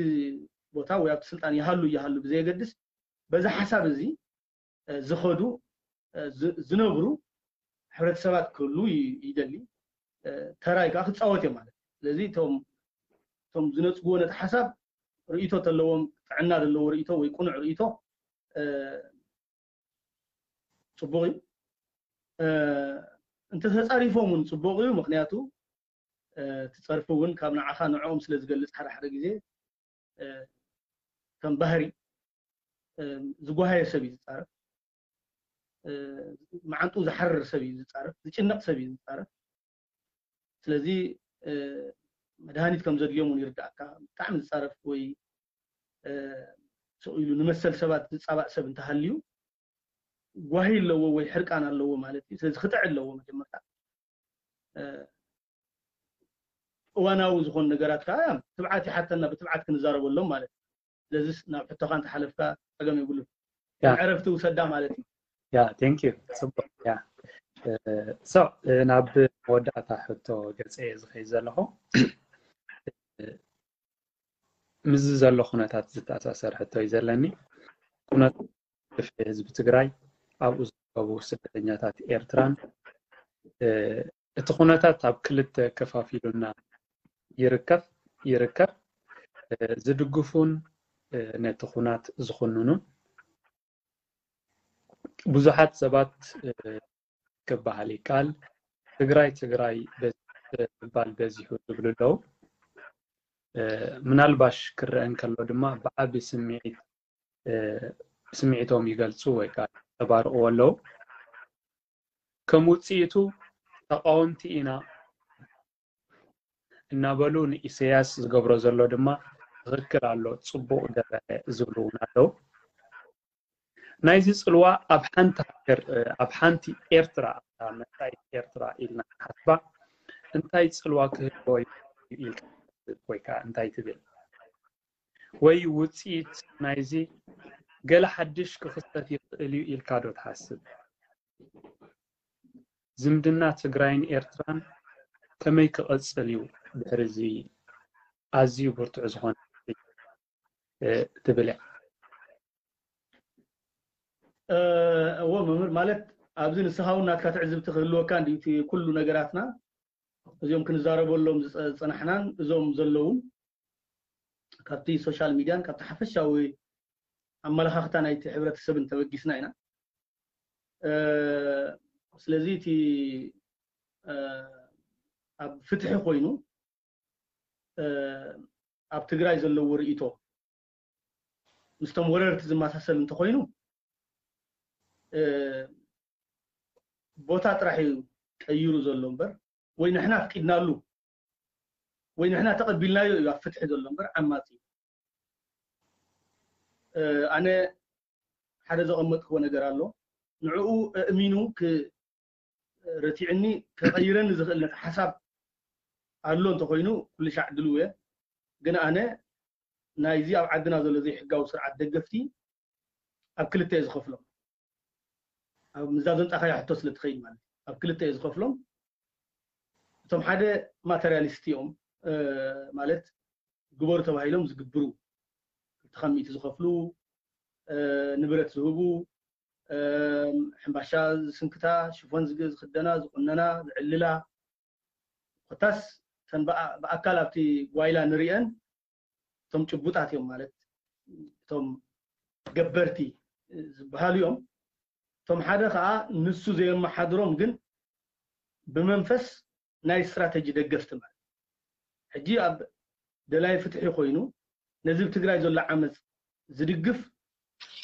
ቦታ ወይ ኣብቲ ስልጣን ይሃሉ ይሃሉ ብዘየገድስ በዚ ሓሳብ እዚ ዝኸዱ ዝነብሩ ሕብረተሰባት ክህሉ ይደሊ ተራይ ከዓ ክፃወት እዮም ማለት ስለዚ እቶም ዝነፅግዎ ነቲ ሓሳብ ርእቶ ተለዎም ጥዕና ዘለዎ ርእይቶ ወይ ቅኑዕ ርእይቶ ጽቡቕ እዩ። እንተተጻሪፎም እውን ጽቡቕ እዩ። ምክንያቱ እቲ ጸርፊ እውን ካብ ንዓኻ ንዕኦም ስለ ዝገልጽ ሓደ ሓደ ግዜ ከም ባህሪ ዝጓሃየ ሰብ እዩ ዝጻረፍ። መዓንጡ ዝሓርር ሰብ እዩ ዝጻረፍ፣ ዝጭነቕ ሰብ እዩ ዝጻረፍ። ስለዚ መድሃኒት ከም ዘድልዮም እውን ይርዳእካ። ብጣዕሚ ዝጻረፍ ወይ ስቕ ኢሉ ንመሰል ሰባት ዝጻባእ ሰብ እንተሃልዩ ጓሂ ኣለዎ ወይ ሕርቃን ኣለዎ ማለት እዩ። ስለዚ ክጥዕ ኣለዎ መጀመርታ። እዋናዊ ዝኾኑ ነገራት ከዓ ትብዓት ይሓተና፣ ብትብዓት ክንዛረበሎም ማለት እዩ። ስለዚስ ናብ ሕቶኻ እንተሓለፍካ ጸገም የብሉን። ዕረፍቲ ውሰዳ ማለት እዩ። ያ ቴንክ ዩ። ጽቡቅ። ያ ሶ ናብ መወዳእታ ሕቶ ገጸ እየ ዝኸይድ ዘለኹ። ምስዚ ዘሎ ኩነታት ዝተኣሳሰር ሕቶ እዩ ዘለኒ። ኩነታት ህዝቢ ትግራይ፣ ኣብኡ ዝርከቡ ስደተኛታት ኤርትራን እቲ ኩነታት ኣብ ክልተ ከፋፊሉና ይርከብ ይርከብ። ዝድግፉን ነቲ ኩናት ዝኹንኑን ብዙሓት ሰባት ክበሃል ይከኣል። ትግራይ ትግራይ ምባል በዚሑ ዝብሉ ኣለዉ። ምናልባሽ ክረአ እንከሎ ድማ ብዓቢ ስምዒት ስምዒቶም ይገልጹ ወይ ከዓ ተባርቕዎ ኣለዉ። ከም ውፅኢቱ ተቃወምቲ ኢና እናበሉ ንኢሰያስ ዝገብሮ ዘሎ ድማ ትኽክል ኣሎ፣ ፅቡቕ ገበረ ዝብሉ እውን ኣለዉ። ናይዚ ፅልዋ ኣብ ሓንቲ ሃገር ኣብ ሓንቲ ኤርትራ ኣብታ መጻኢት ኤርትራ ኢልና ንሓስባ እንታይ ፅልዋ ክህልዎ ኢልካ ወይ ከዓ እንታይ ትብል? ወይ ውፅኢት ናይዚ ገለ ሓድሽ ክኽሰት ይኽእል እዩ ኢልካ ዶ ትሓስብ? ዝምድና ትግራይን ኤርትራን ከመይ ክቐፅል እዩ ድሕሪ እዚ ኣዝዩ ብርቱዕ ዝኾነ ትብል እያ? እዎ መምህር፣ ማለት ኣብዚ ንስኻ እውን ናትካ ትዕዝብቲ ክህልወካ እንዲ ኩሉ ነገራትና እዚኦም ክንዛረበሎም ዝፀናሕናን እዞም ዘለውን ካብቲ ሶሻል ሚድያን ካብቲ ሓፈሻዊ ኣመለኻኽታ ናይቲ ሕብረተሰብን ተበጊስና ኢና። ስለዚ እቲ ኣብ ፍትሒ ኮይኑ ኣብ ትግራይ ዘለዎ ርእይቶ ምስቶም ወረርቲ ዝመሳሰል እንተኮይኑ ቦታ ጥራሕ እዩ ቀይሩ ዘሎ እምበር ወይ ንሕና ኣፍቂድናሉ ወይ ንሕና ተቐቢልናዮ እዩ ኣብ ፍትሒ ዘሎ እምበር ዓማፂ እዩ። ኣነ ሓደ ዘቐመጥክዎ ነገር ኣሎ። ንዕኡ ኣእሚኑ ረቲዕኒ ከቐይረኒ ዝኽእል ነቲ ሓሳብ ኣሎ እንተኮይኑ ኩሉ ሻዕ ድልው እየ። ግን ኣነ ናይዚ ኣብ ዓድና ዘሎ ዘይሕጋዊ ስርዓት ደገፍቲ ኣብ ክልተ እየ ዝኸፍሎም። ኣብ ምዛ ዘምጻኻዮ ሕቶ ስለ ትኸይድ ማለት ኣብ ክልተ እየ ዝኸፍሎም። እቶም ሓደ ማተርያሊስት እዮም፣ ማለት ግበሩ ተባሂሎም ዝግብሩ፣ ክልተ ካብ ሚእቲ ዝኸፍሉ፣ ንብረት ዝህቡ፣ ሕምባሻ ዝስንክታ፣ ሽፎን ዝኽደና፣ ዝቁነና፣ ዝዕልላ፣ ኮታስ ተን ብኣካል ኣብቲ ጓይላ ንሪአን እቶም ጭቡጣት እዮም ማለት እቶም ገበርቲ ዝበሃሉ እዮም። እቶም ሓደ ከዓ ንሱ ዘየመሓድሮም ግን ብመንፈስ ናይ ስትራተጂ ደገፍቲ ማለት ሕጂ ኣብ ደላይ ፍትሒ ኮይኑ ነዚ ኣብ ትግራይ ዘሎ ዓመፅ ዝድግፍ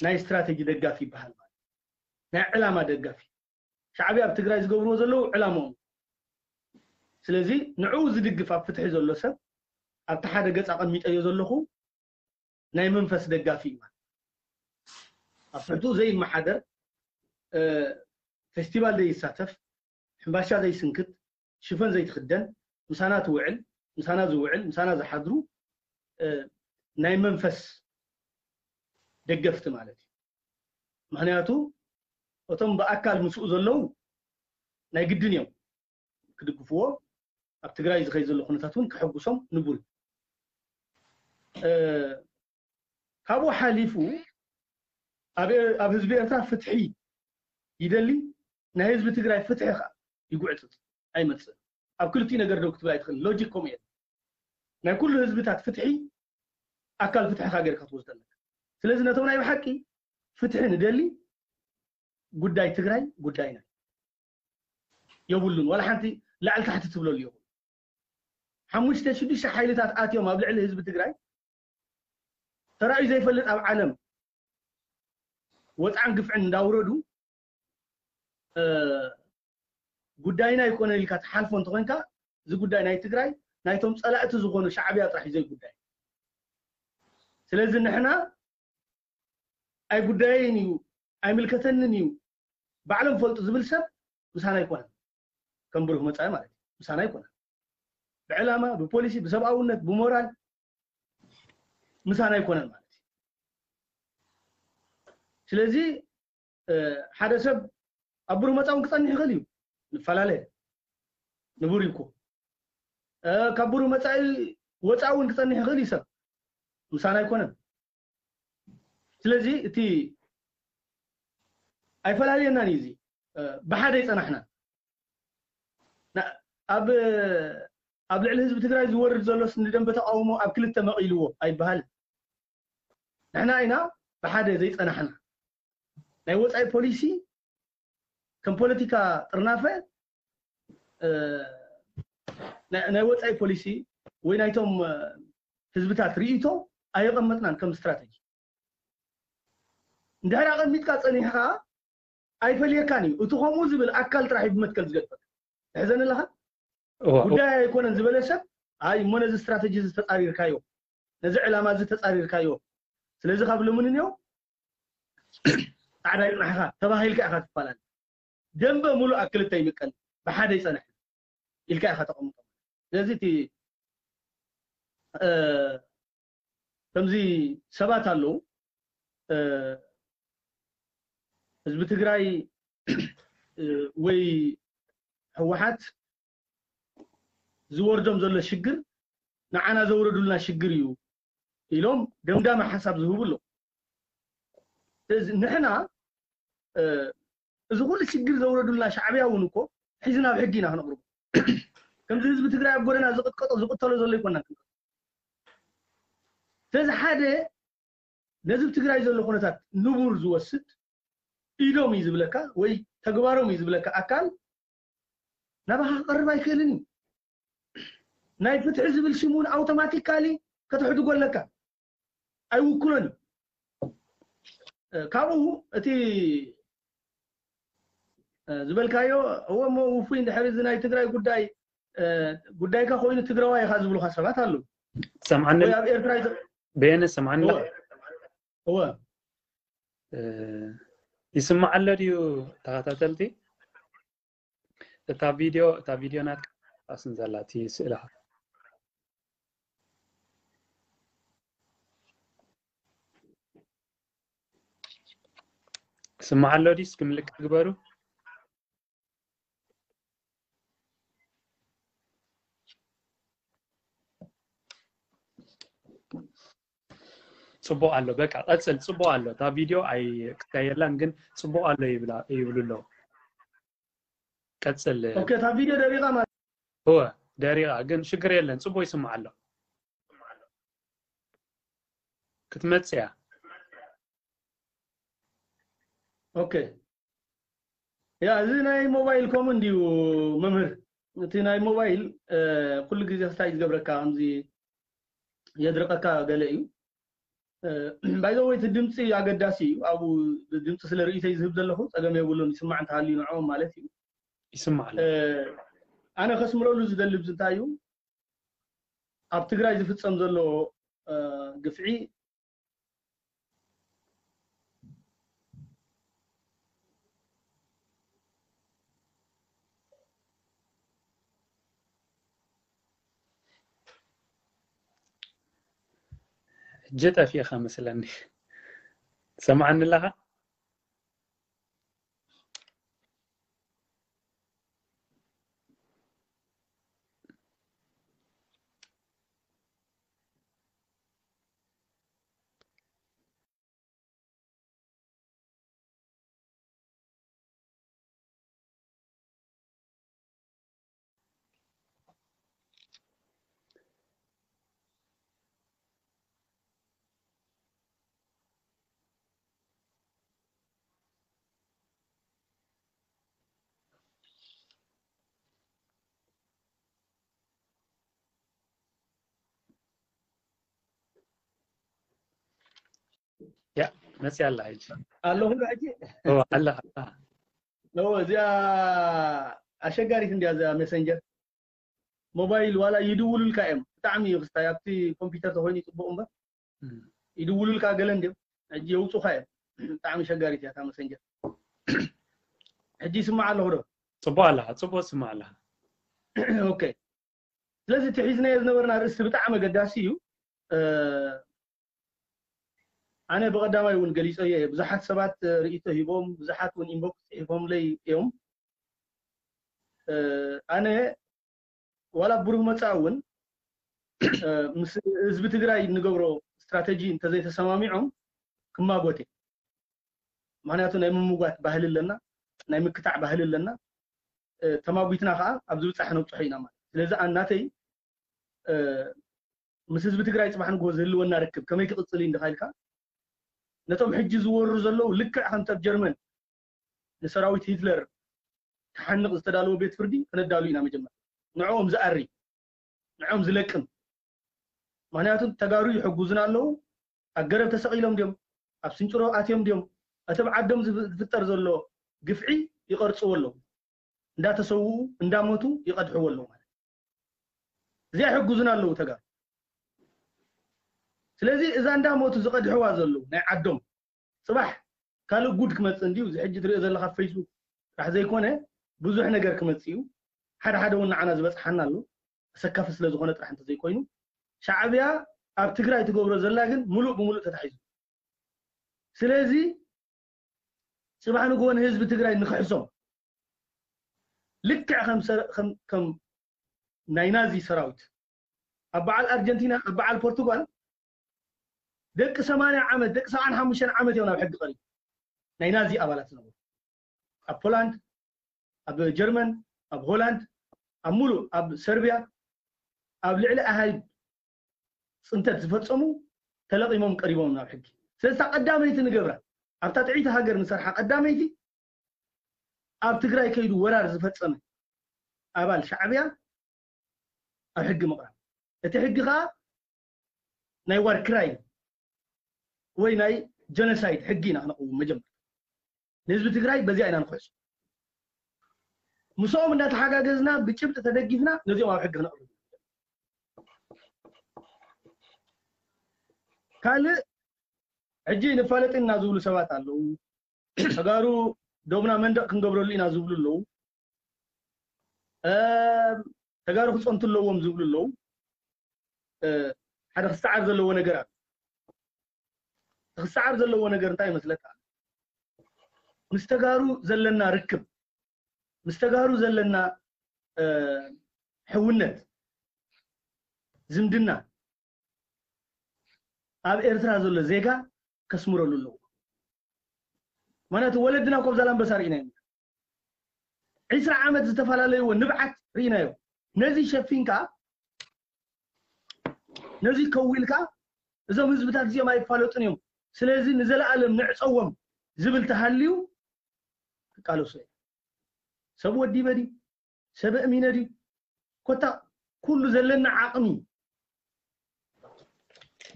ናይ ስትራተጂ ደጋፊ ይበሃል ማለት ናይ ዕላማ ደጋፊ ሻዕብያ ኣብ ትግራይ ዝገብርዎ ዘለዉ ዕላምኦም ስለዚ ንዕኡ ዝድግፍ ኣብ ፍትሒ ዘሎ ሰብ ኣብቲ ሓደ ገፅ ኣቐሚጠዮ ዘለኹ ናይ መንፈስ ደጋፊ እዩ ማለት ኣብ ትሕትኡ ዘይመሓደር ፌስቲቫል ዘይሳተፍ ሕምባሻ ዘይስንክት ሽፈን ዘይትኽደን ምሳና ትውዕል ምሳና ዝውዕል ምሳና ዝሓድሩ ናይ መንፈስ ደገፍቲ ማለት እዩ ምክንያቱ እቶም ብኣካል ምስኡ ዘለዉ ናይ ግድን እዮም ክድግፍዎ ኣብ ትግራይ ዝኸይ ዘሎ ኩነታት እውን ክሕጉሶም ንቡር ካብኡ ሓሊፉ ኣብ ህዝቢ ኤርትራ ፍትሒ ይደሊ ናይ ህዝቢ ትግራይ ፍትሒ ከዓ ይጉዕፅፅ ኣይመፅእ ኣብ ክልቲኡ ነገር ደው ክትብል ኣይትኽእል ሎጂክ ከምኡ እየ ናይ ኩሉ ህዝብታት ፍትሒ ኣካል ፍትሕኻ ጌርካ ትወስዶ ኣለካ ስለዚ ነቶም ናይ ብሓቂ ፍትሒ ንደሊ ጉዳይ ትግራይ ጉዳይና የብሉን። ዋላ ሓንቲ ላዕሊ ታሕቲ ትብለሉ የብሉ። ሓሙሽተ ሽዱሽተ ሓይልታት ኣትዮም ኣብ ልዕሊ ህዝቢ ትግራይ ተራእዩ ዘይፈልጥ ኣብ ዓለም ወፅዓን ግፍዕን እንዳውረዱ ጉዳይና ኣይኮነን ኢልካ ትሓልፎ እንተኮንካ እዚ ጉዳይ ናይ ትግራይ ናይቶም ፀላእቲ ዝኾኑ ሻዕብያ ጥራሕ እዩ ዘይጉዳይ። ስለዚ ንሕና ኣይጉዳየይን እዩ ኣይምልከተንን እዩ ባዕሎም ፈልጡ ዝብል ሰብ ምሳና ኣይኮነን። ከም ብሩህ መፃኢ ማለት እዩ ምሳና ኣይኮነን። ብዕላማ ብፖሊሲ ብሰብኣውነት ብሞራል ምሳና ኣይኮነን ማለት እዩ። ስለዚ ሓደ ሰብ ኣብ ብሩህ መፃኢ እውን ክፀንሕ ይኽእል እዩ። ንፈላለ ንቡር እዩ እኮ ካብ ብሩህ መፃኢ ወፃኢ እውን ክፀንሕ ይኽእል እዩ ሰብ ምሳና ኣይኮነን። ስለዚ እቲ ኣይፈላልየናን እዩ እዚ ብሓደ ይፀናሕና ኣብ ኣብ ልዕሊ ህዝቢ ትግራይ ዝወርድ ዘሎ ስኒ ደንበ ተቃውሞ ኣብ ክልተ መቒልዎ ኣይበሃልን። ንሕና ኢና ብሓደ ዘይፀናሕና ናይ ወፃኢ ፖሊሲ ከም ፖለቲካ ጥርናፈ ናይ ወፃኢ ፖሊሲ ወይ ናይቶም ህዝብታት ርእይቶ ኣየቐመጥናን ከም ስትራተጂ። እንድሕር ኣቐሚጥካ ፀኒሕኻ ኣይፈልየካን እዩ። እቲ ከምኡ ዝብል ኣካል ጥራሕ እዩ ብመትከል ዝገድፈካ። ትሕዘኒ ኣለኻ? ጉዳይ ኣይኮነን ዝበለ ሰብ ኣይ እሞ ነዚ ስትራተጂ እዚ ተፃሪርካዮ፣ ነዚ ዕላማ እዚ ተፃሪርካዮ፣ ስለዚ ካብ ልሙን እኒኦ ፃዕዳ ይፅናሕኻ ተባሂልካ ኢኻ ትፈላለ። ደንበ ሙሉእ ኣብ ክልተ ይምቀል ብሓደ ይፀንሕ ኢልካ ኢኻ ተቐምጦ። ስለዚ እቲ ከምዚ ሰባት ኣለዉ ህዝቢ ትግራይ ወይ ህወሓት ዝወርዶም ዘሎ ሽግር ንዓና ዘውረዱልና ሽግር እዩ ኢሎም ደምዳሚ ሓሳብ ዝህቡ ኣለዉ። ስለዚ ንሕና እዚ ኩሉ ሽግር ዘውረዱልና ሻዕብያ እውን እኮ ሒዝና ኣብ ሕጊ ኢና ክነቕርቦ። ከምዚ ህዝቢ ትግራይ ኣብ ጎደና ዝቕጥቀጦ ዝቕተሎ ዘሎ ይኮና። ስለዚ ሓደ ነዚ ኣብ ትግራይ ዘሎ ኩነታት ንቡር ዝወስድ ኢዶም እዩ ዝብለካ ወይ ተግባሮም እዩ ዝብለካ ኣካል ናባኻ ክቐርብ ኣይክእልን እዩ። ናይ ፍትሒ ዝብል ሽም እውን ኣውቶማቲካሊ ከተሕድጎ ኣለካ። ኣይውክሎን እዩ። ካብኡ እቲ ዝበልካዮ እወ እሞ ውፉይ እንድሕር እዚ ናይ ትግራይ ጉዳይ ጉዳይካ ኮይኑ ትግራዋይ ኢኻ ዝብሉካ ሰባት ኣለዉ። ሰምዓኒ ወይ ኣብ ኤርትራ በየነ ሰምዓኒ እወ ይስማዕ ኣሎ ድዩ ተኸታተልቲ? እታ ቪድዮ እታ ቪድዮ ናትካ ኣስን ዘላ እቲ ስእልኻ ክስማዕ ኣሎ ድዩ? እስኪ ምልክት ግበሩ። ጽቡቕ ኣሎ። በቃ ቀጽል። ጽቡቕ ኣሎ። እታ ቪድዮ ኣይ ክካየላን ግን ጽቡቕ ኣሎ ይብላ ይብሉ ኣለዉ። ቀጽል። ኦኬ፣ እታ ቪድዮ ደሪቓ ማለት እወ ደሪቓ ግን ሽግር የለን። ጽቡቕ ይስማዕ ኣሎ። ክትመጽእ እያ። ኦኬ ያ እዚ ናይ ሞባይል ኮም እንዲዩ መምህር እቲ ናይ ሞባይል ኩሉ ግዜ ክስታይ ዝገብረካ ከምዚ የድርቀካ ገለ እዩ ባይዘወይ እቲ ድምፂ ኣገዳሲ እዩ ኣብኡ ድምፂ ስለ ርእይተይ ዝህብ ዘለኹ ፀገም የብሉን ይስማዕ እንተሃልዩ ንዕኦም ማለት እዩ ይስማዕ ኣሎ ኣነ ከስምረሉ ዝደሊ ብዚ እንታይ እዩ ኣብ ትግራይ ዝፍፀም ዘሎ ግፍዒ ሕጂ ጠፊእኻ መስለኒ ትሰምዓኒ ኣለኻ ያ መፅያ ኣላ ሕጂ ኣለኹ ዶ ሕጂ ኦ፣ ኣላ ኣላ ኖ እዚኣ ኣሸጋሪት እንዲያ እዚኣ ሜሰንጀር ሞባይል ዋላ ይድውሉልካ እዮም ብጣዕሚ እዩ ክስታይ ኣብቲ ኮምፒውተር ተኮይኑ ይፅቡቅ እምበር እም። ይድውሉልካ ገለ እንዲዮም ሕጂ የውፁካ እዮም ብጣዕሚ ሸጋሪት እያ እታ መሰንጀር ሕጂ ይስማዕ ኣለኹ ዶ ፅቡቅ ኣላ ፅቡቅ ስማዕ ኣላ ኦኬ ስለዚ እቲ ሒዝናዮ ዝነበርና ርእስቲ ብጣዕሚ ኣገዳሲ እዩ እ፣ ኣነ ብቐዳማይ እውን ገሊፀዮ እየ ብዙሓት ሰባት ርእይቶ ሂቦም ብዙሓት እውን ኢንቦክስ ፅሒፎምለይ እዮም እ፣ ኣነ ዋላ ብሩህ መፃእ እውን እ፣ ምስ ህዝቢ ትግራይ እንገብሮ ስትራተጂ እንተዘይተሰማሚዖም ክማጎት እየ ምክንያቱ ናይ ምምጓት ባህሊ ኣለና ናይ ምክታዕ ባህሊ ኣለና እ፣ ተማጒትና ከዓ ኣብ ዝብፃሕ ነብፅሖ ኢና ማለት ስለዚ ኣናተይ እ፣ ምስ ህዝቢ ትግራይ ፅባሕ ንግሆ ዝህልወና ርክብ ከመይ ክቕፅል እዩ እንድካ ኢልካ ነቶም ሕጂ ዝወሩ ዘለዉ ልክዕ ከምቲ ኣብ ጀርመን ንሰራዊት ሂትለር ክሓንቕ ዝተዳለወ ቤት ፍርዲ ክነዳሉ ኢና መጀመር ንዕኦም ዝኣሪ ንዕኦም ዝለቅም ምክንያቱ ተጋሩ ይሕጉዙና ኣለዉ ኣብ ገረብ ተሰቒሎም ድዮም ኣብ ስንጭሮ ኣትዮም ድዮም እቲ ኣብ ዓዶም ዝፍ- ዝፍጠር ዘሎ ግፍዒ ይቐርፅዎ ኣለዉ እንዳተሰውኡ እንዳሞቱ ይቐድሕዎ ኣለዉ ማለት እዚኣ ይሕጉዙና ኣለዉ ተጋሩ ስለዚ እዛ እንዳሞቱ ዝቐድሕዋ ዘለዉ ናይ ዓዶም ፅባሕ ካልእ ጉድ ክመፅእ እንድዩ እዚ ሕጂ ትሪኦ ዘለካ ፌስቡክ ጥራሕ ዘይኮነ ብዙሕ ነገር ክመፅእ እዩ ሓደ ሓደ እውን ንዓና ዝበፅሓና ኣሎ ኣሰካፊ ስለ ዝኾነ ጥራሕ እንተዘይኮይኑ ሻዕብያ ኣብ ትግራይ ትገብሮ ዘላ ግን ሙሉእ ብሙሉእ ተታሒዙ ስለዚ ፅባሕ ንግሆ ንህዝቢ ትግራይ ንክሕሶም ልክዕ ከም ሰረ- ከም- ከም ናይ ናዚ ሰራዊት ኣብ በዓል ኣርጀንቲና ኣብ በዓል ፖርቱጋል ደቂ ሰማንያ ዓመት ደቂ ሰብዓን ሓሙሽተን ዓመት እዮም ናብ ሕጊ ቀሪቡ ናይ ናዚ ኣባላት ዝነበሩ ኣብ ፖላንድ ኣብ ጀርመን ኣብ ሆላንድ ኣብ ሙሉእ ኣብ ሰርቢያ ኣብ ልዕሊ ኣሃይድ ፅንተት ዝፈፀሙ ተለቒሞም ቀሪቦም ናብ ሕጊ ስለዚ እታ ቀዳመይቲ ንገብራ ኣብታ ጥዕይቲ ሃገር ንሰርሓ ቀዳመይቲ ኣብ ትግራይ ከይዱ ወራር ዝፈፀመ ኣባል ሻዕብያ ኣብ ሕጊ ምቕራብ እቲ ሕጊ ከዓ ናይ ዋር ክራይ ወይ ናይ ጀኖሳይድ ሕጊ ኢና ክነቕውም መጀመርያ ንህዝቢ ትግራይ በዚኣ ኢና ንክሕሱ ምስኦም እንዳተሓጋገዝና ብጭብጢ ተደጊፍና ነዚኦም ኣብ ሕጊ ክነቕርብ ካልእ ሕጂ ንፋለጥ ኢና ዝብሉ ሰባት ኣለዉ ተጋሩ ዶብና መንደቕ ክንገብረሉ ኢና ዝብሉ ኣለዉ ተጋሩ ክፀንቱ ኣለዎም ዝብሉ ኣለዉ ሓደ ክሰዓር ዘለዎ ነገር ኣሎ ክሰዓር ዘለዎ ነገር እንታይ ይመስለካ ምስ ተጋሩ ዘለና ርክብ ምስ ተጋሩ ዘለና ሕውነት ዝምድና ኣብ ኤርትራ ዘሎ ዜጋ ከስምረሉ ኣለዎ ምክንያቱ ወለድና ኮብ ዛላምበሳ ርኢናዮ ዒስራ ዓመት ዝተፈላለይዎ ንብዓት ርኢናዮ ነዚ ሸፊንካ ነዚ ከዊልካ እዞም ህዝብታት እዚኦም ኣይፋለጡን እዮም ስለዚ ንዘለኣለም ንዕፀዎም ዝብል ተሃልዩ ክቃለሶ እየ ሰብ ወዲበ ድዩ ሰብ ኣእሚነ ድዩ ኮታ ኩሉ ዘለና ዓቕሚ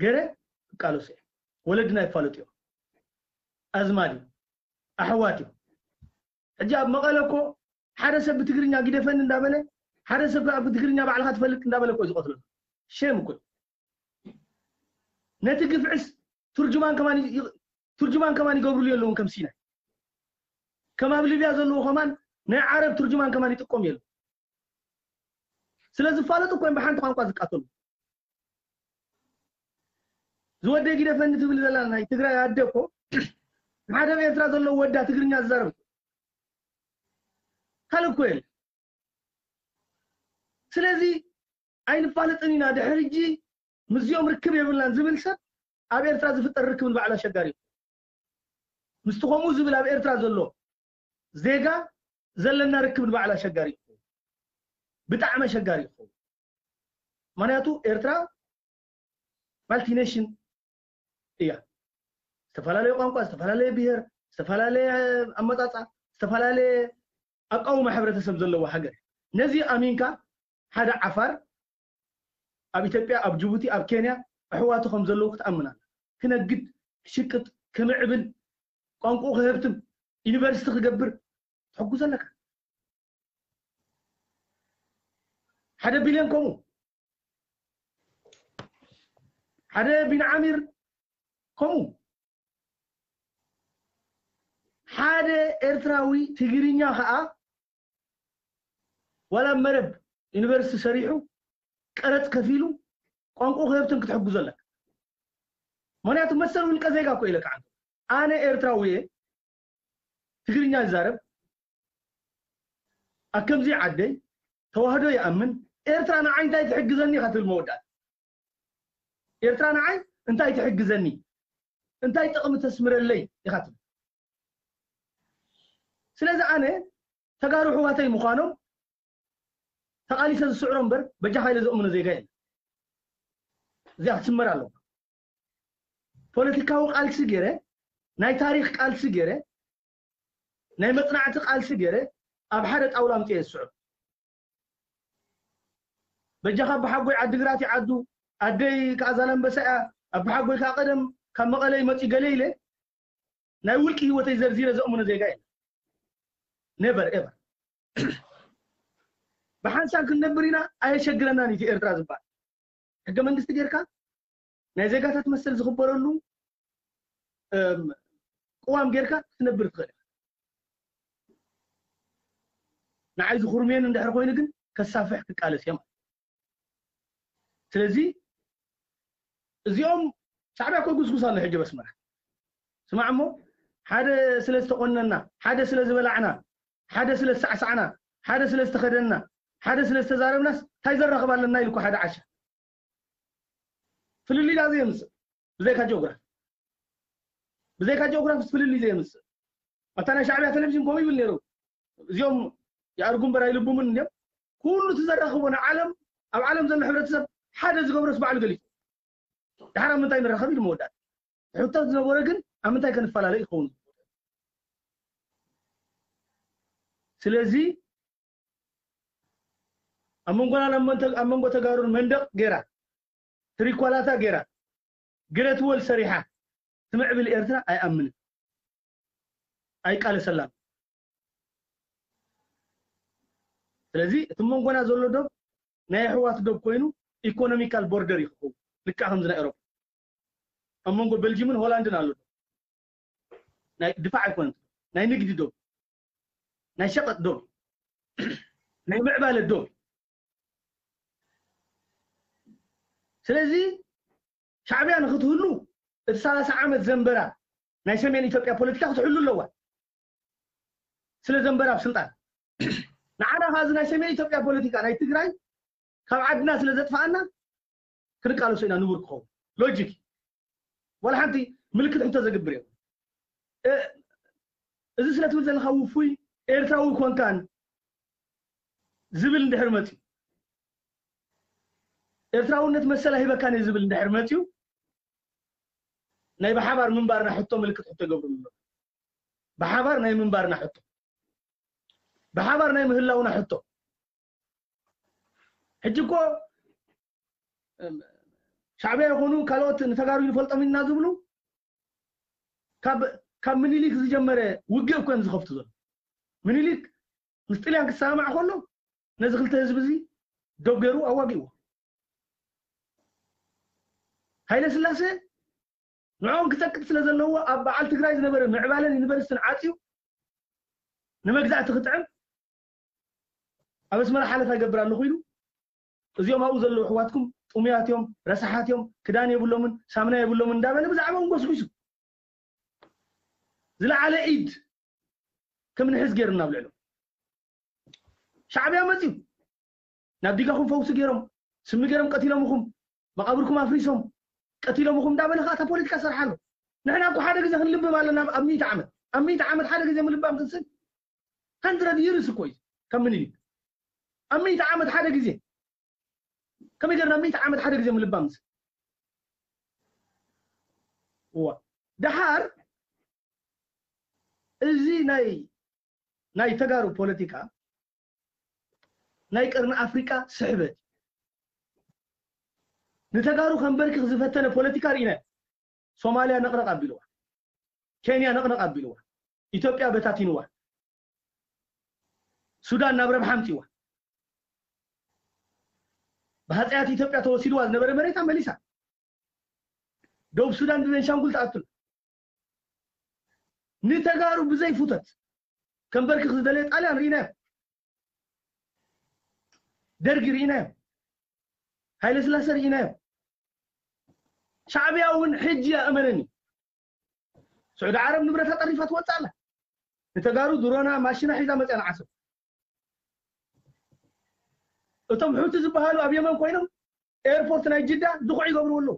ገረ ክቃለሶ እየ ወለድና ይፋለጡ እዮም ኣዝማድ እዩ ኣሕዋት እዩ ሕጂ ኣብ መቐለ እኮ ሓደ ሰብ ብትግርኛ ግደፈኒ እንዳበለ ሓደ ሰብ ኣብ ትግርኛ ባዕልካ ትፈልጥ እንዳበለ እኮ ዝቀትለሉ ሸም እኮ ነቲ ግፍዕስ ትርጅማን ከማን ትርጅማን ከማን ይገብሩሉ የለውን ከም ሲናይ ከም ኣብ ሊብያ ዘለዎ ከማን ናይ ዓረብ ትርጅማን ከማን ይጥቀሙ የለ ስለ ዝፋለጡ እኮ ብሓንቲ ቋንቋ ዝቃተሉ ዝወደይ ግደፈኒ ትብል ዘላ ናይ ትግራይ ኣደ እኮ ሓደ ኣብ ኤርትራ ዘለዎ ወዳ ትግርኛ ዝዛረብ ካልእ እኮ የለ ስለዚ ኣይንፋለጥን ኢና ድሕሪ ሕጂ ምስዚኦም ርክብ የብልናን ዝብል ሰብ ኣብ ኤርትራ ዝፍጠር ርክብ ንባዕሉ ኣሸጋሪ እዩ ምስቲ ከምኡ ዝብል ኣብ ኤርትራ ዘሎ ዜጋ ዘለና ርክብ ንባዕሉ ኣሸጋሪ እዩ ብጣዕሚ ኣሸጋሪ እዩ ምክንያቱ ኤርትራ ማልቲኔሽን እያ ዝተፈላለየ ቋንቋ ዝተፈላለየ ብሄር ዝተፈላለየ ኣመፃፃ ዝተፈላለየ ኣቃውማ ሕብረተሰብ ዘለዋ ሃገር ነዚ ኣሚንካ ሓደ ዓፋር ኣብ ኢትዮጵያ ኣብ ጅቡቲ ኣብ ኬንያ ኣሕዋቱ ከም ዘለዉ ክትኣምን ኣለ ክነግድ ክሽቅጥ፣ ክምዕብል፣ ቋንቋኡ ክህብትም፣ ዩኒቨርሲቲ ክገብር ትሕግዞ ኣለካ። ሓደ ቢልዮን ከምኡ፣ ሓደ ቢንዓሚር ከምኡ፣ ሓደ ኤርትራዊ ትግርኛ ከዓ ዋላ መረብ ዩኒቨርሲቲ ሰሪሑ ቀረፅ ከፊሉ ቋንቋ ክህብትን ክትሕግዞ ኣለካ። ምክንያቱ መሰል ውልቀ ዜጋ እኮ ኢለካ ዓንተ። ኣነ ኤርትራዊ እየ፣ ትግርኛ ይዛረብ፣ ኣብ ከምዚ ዓደይ ተዋህዶ ይኣምን። ኤርትራ ንዓይ እንታይ ትሕግዘኒ ኢኻ ትብል መወዳእታ። ኤርትራ ንዓይ እንታይ ትሕግዘኒ፣ እንታይ ጥቕሚ ተስምረለይ ኢኻ ትብል። ስለዚ ኣነ ተጋሩ ኣሕዋተይ ምዃኖም ተቓሊሰ ዝስዕሮ እምበር በጃኻ ኢለ ዘእምኖ ዜጋ የለን። እዚኣ ክትስመር ኣለዋ። ፖለቲካዊ ቃልሲ ገይረ፣ ናይ ታሪኽ ቃልሲ ገይረ፣ ናይ መጽናዕቲ ቃልሲ ገይረ ኣብ ሓደ ጣውላ ኣምፅኤ ዝስዕሮ። በጃኻ ኣቦሓጎይ ዓዲግራት ይዓዱ፣ ኣደይ ከዓ ዛላምበሳ እያ፣ ኣቦሓጎይ ከዓ ቀደም ካብ መቐለ ይመፅኡ ገለ ኢለ ናይ ውልቂ ህይወተይ ዘርዚረ ዘእምኖ ዜጋ የለን። Never ever። ብሓንሳብ ክንነብር ኢና፣ ኣየሸግረናን እዩ እቲ ኤርትራ ዝበሃል። ሕገ መንግስቲ ጌርካ ናይ ዜጋታት መሰል ዝኽበረሉ፣ እም፣ ቅዋም ጌርካ ክትነብር ትኽእል ኢኻ። ንዓይ ዝኹርምየን እንድሕር ኮይኑ ግን ከሳፍሕ ክቃለስ እየ ማለት። ስለዚ እዚኦም ሻዕብያ እኮ ጉስጉስ ኣሎ ሕጂ በስመራ። ስማዕ እሞ፣ ሓደ ስለ ዝተቆነና፣ ሓደ ስለ ዝበላዕና፣ ሓደ ስለ ዝሳዕሳዕና፣ ሓደ ስለ ዝተኸደንና፣ ሓደ ስለ ዝተዛረብናስ እንታይ ዘራኽብ ኣለና ኢሉ እኮ ሓደ ዓሻ ፍልልይ ዳኣ ዘየምፅእ ብዘይካ ጂኦግራፊ። ብዘይካ ጂኦግራፊስ ፍልልይ ዘየምፅእ። ኣብታ ናይ ሻዕብያ ቴሌቪዥን ከምኡ ይብል ነይሩ። እዚኦም ይኣርጉ እምበር ኣይልቡምን እንዲዮም። ኩሉ እቲ ዘራኽቦ ንዓለም፣ ኣብ ዓለም ዘሎ ሕብረተሰብ ሓደ ዝገብሮስ ባዕሉ ገሊጹ። ድሓር ኣብ ምንታይ ንራኸብ ኢሉ መወዳእታ። ሕቶ ዝነበረ ግን ኣብ ምንታይ ከንፈላለ ይኸውን? ስለዚ ኣብ መንጎና ኣብ መንተ-፣ ኣብ መንጎ ተጋሩን መንደቕ ገይራ፣ ትሪኳላታ ገይራ፣ ግረት ወል ሰሪሓ ትምዕብል ኤርትራ ኣይኣምንን። ኣይቃለሰላን። ስለዚ እቲ መንጎና ዘሎ ዶብ ናይ ኣሕዋት ዶብ ኮይኑ ኢኮኖሚካል ቦርደር እዩ ክኸውን። ልክዕ ከምዚ ናይ ኤሮፓ። ኣብ መንጎ ቤልጂምን ሆላንድን ኣሎ ዶብ። ናይ ድፋዕ ኣይኮነን። ናይ ንግዲ ዶብ። ናይ ሸቐጥ ዶብ። ናይ ምዕባለ ዶብ። ስለዚ ሻዕብያ ንክትህሉ እቲ ሰላሳ ዓመት ዘንበራ ናይ ሰሜን ኢትዮጵያ ፖለቲካ ክትሕሉ ኣለዋ። ስለ ዘንበራ ኣብ ስልጣን። ንዓና ከኣ እዚ ናይ ሰሜን ኢትዮጵያ ፖለቲካ ናይ ትግራይ ካብ ዓድና ስለ ዘጥፋኣና ክንቃለሶ ኢና ንቡር ክኸውን። ሎጂክ። ዋላ ሓንቲ ምልክት ሕቶ ዘግብር እዮም። እ፣ እዚ ስለ ትብል ዘለኻ ውፉይ ኤርትራዊ ኮንካን ዝብል እንድሕር መፅዩ፣ ኤርትራውነት መሰል ኣይህበካን እዩ ዝብል እንድሕር መፅዩ፣ ናይ ብሓባር ምንባርና ሕቶ ምልክት ሕቶ ይገብሩ ኣሎ። ብሓባር ናይ ምንባርና ሕቶ፣ ብሓባር ናይ ምህላውና ሕቶ። ሕጂ እኮ፣ እም፣ ሻዕብያ ይኹኑ ካልኦት ንተጋሩ ይንፈልጦም ኢና ዝብሉ ካብ፣ ካብ ምኒልክ ዝጀመረ ውግእ እኮ እዮም ዝኸፍቱ ዘሎ። ምኒልክ ምስ ጥልያን ክሰማማዕ ከሎ ነዚ ክልተ ህዝቢ እዚ ዶብ ገይሩ ኣዋጊእዎ። ሃይለ ስላሴ ንዕኦም ክጸቅጥ ስለ ዘለዎ ኣብ በዓል ትግራይ ዝነበረ ምዕባለን ዩኒቨርሲቲን ዓጽዩ ንመግዛእቲ ክጥዕም ኣብ ኣስመራ ሓለፋ ይገብር ኣለኹ ኢሉ፣ እዚኦም ኣብኡ ዘለዉ ኣሕዋትኩም ጥሙያት እዮም፣ ረሳሓት እዮም፣ ክዳን የብሎምን፣ ሳምና የብሎምን እንዳበለ ብዛዕባኦም ጎስጒሱ። ዝለዓለ ኢድ ከም ንሕዝ ገይሩና ኣብ ልዕሎም። ሻዕብያ መፅዩ፣ ናብ ዲጋኹም ፈውሲ ገይሮም፣ ስሚ ገይሮም ቀቲሎምኹም፣ መቓብርኩም ኣፍሪሶም፣ ቀቲሎምኹም እንዳበለ ከዓ እታ ፖለቲካ ሰርሓ ኣሎ። ንሕና እኮ ሓደ ግዜ ክንልብም ኣለና ኣብ ሚእቲ ዓመት። ኣብ ሚእቲ ዓመት ሓደ ግዜ ምልባም ክንስን፣ ሃንድረድ ይርስ እኮ እዩ ከም ምኒልክ። ኣብ ሚእቲ ዓመት ሓደ ግዜ። ከመይ ገይርና ሚእቲ ዓመት ሓደ ግዜ ምልባም ንስን? እዋ። ደሓር እዚ ናይ፣ ናይ ተጋሩ ፖለቲካ ናይ ቀርኒ ኣፍሪቃ ስሕበት። ንተጋሩ ከንበርክኽ ዝፈተነ ፖለቲካ ርኢና። ሶማልያ ነቕነቕ ኣቢልዋ፣ ኬንያ ነቕነቕ ኣቢልዋ፣ ኢትዮጵያ በታቲንዋ፣ ሱዳን ናብ ረብሓ ኣምጺዋ። ብሃፀያት ኢትዮጵያ ተወሲድዋ ዝነበረ መሬታ መሊሳ። ደቡብ ሱዳን ብቤንሻንጉል ተኣትሉ። ንተጋሩ ብዘይ ፍቶት ከንበርክኽ ዝደለየ ጣልያን ርኢናዮ። ደርጊ ርኢናዮ። ሃይለ ስላሰ ርኢናዮ። ሻዕብያ እውን ሕጂ እመነኒ፣ ስዑዲ ዓረብ ንብረታ ጠሪፋ ትወፅእ ኣላ። ንተጋሩ ድሮና ማሽና ሒዛ መፅያ ንዓሰብ። እቶም ሑቲ ዝበሃሉ ኣብ የመን ኮይኖም ኤርፖርት ናይ ጅዳ ድኹዕ ይገብርዎ ኣለዉ።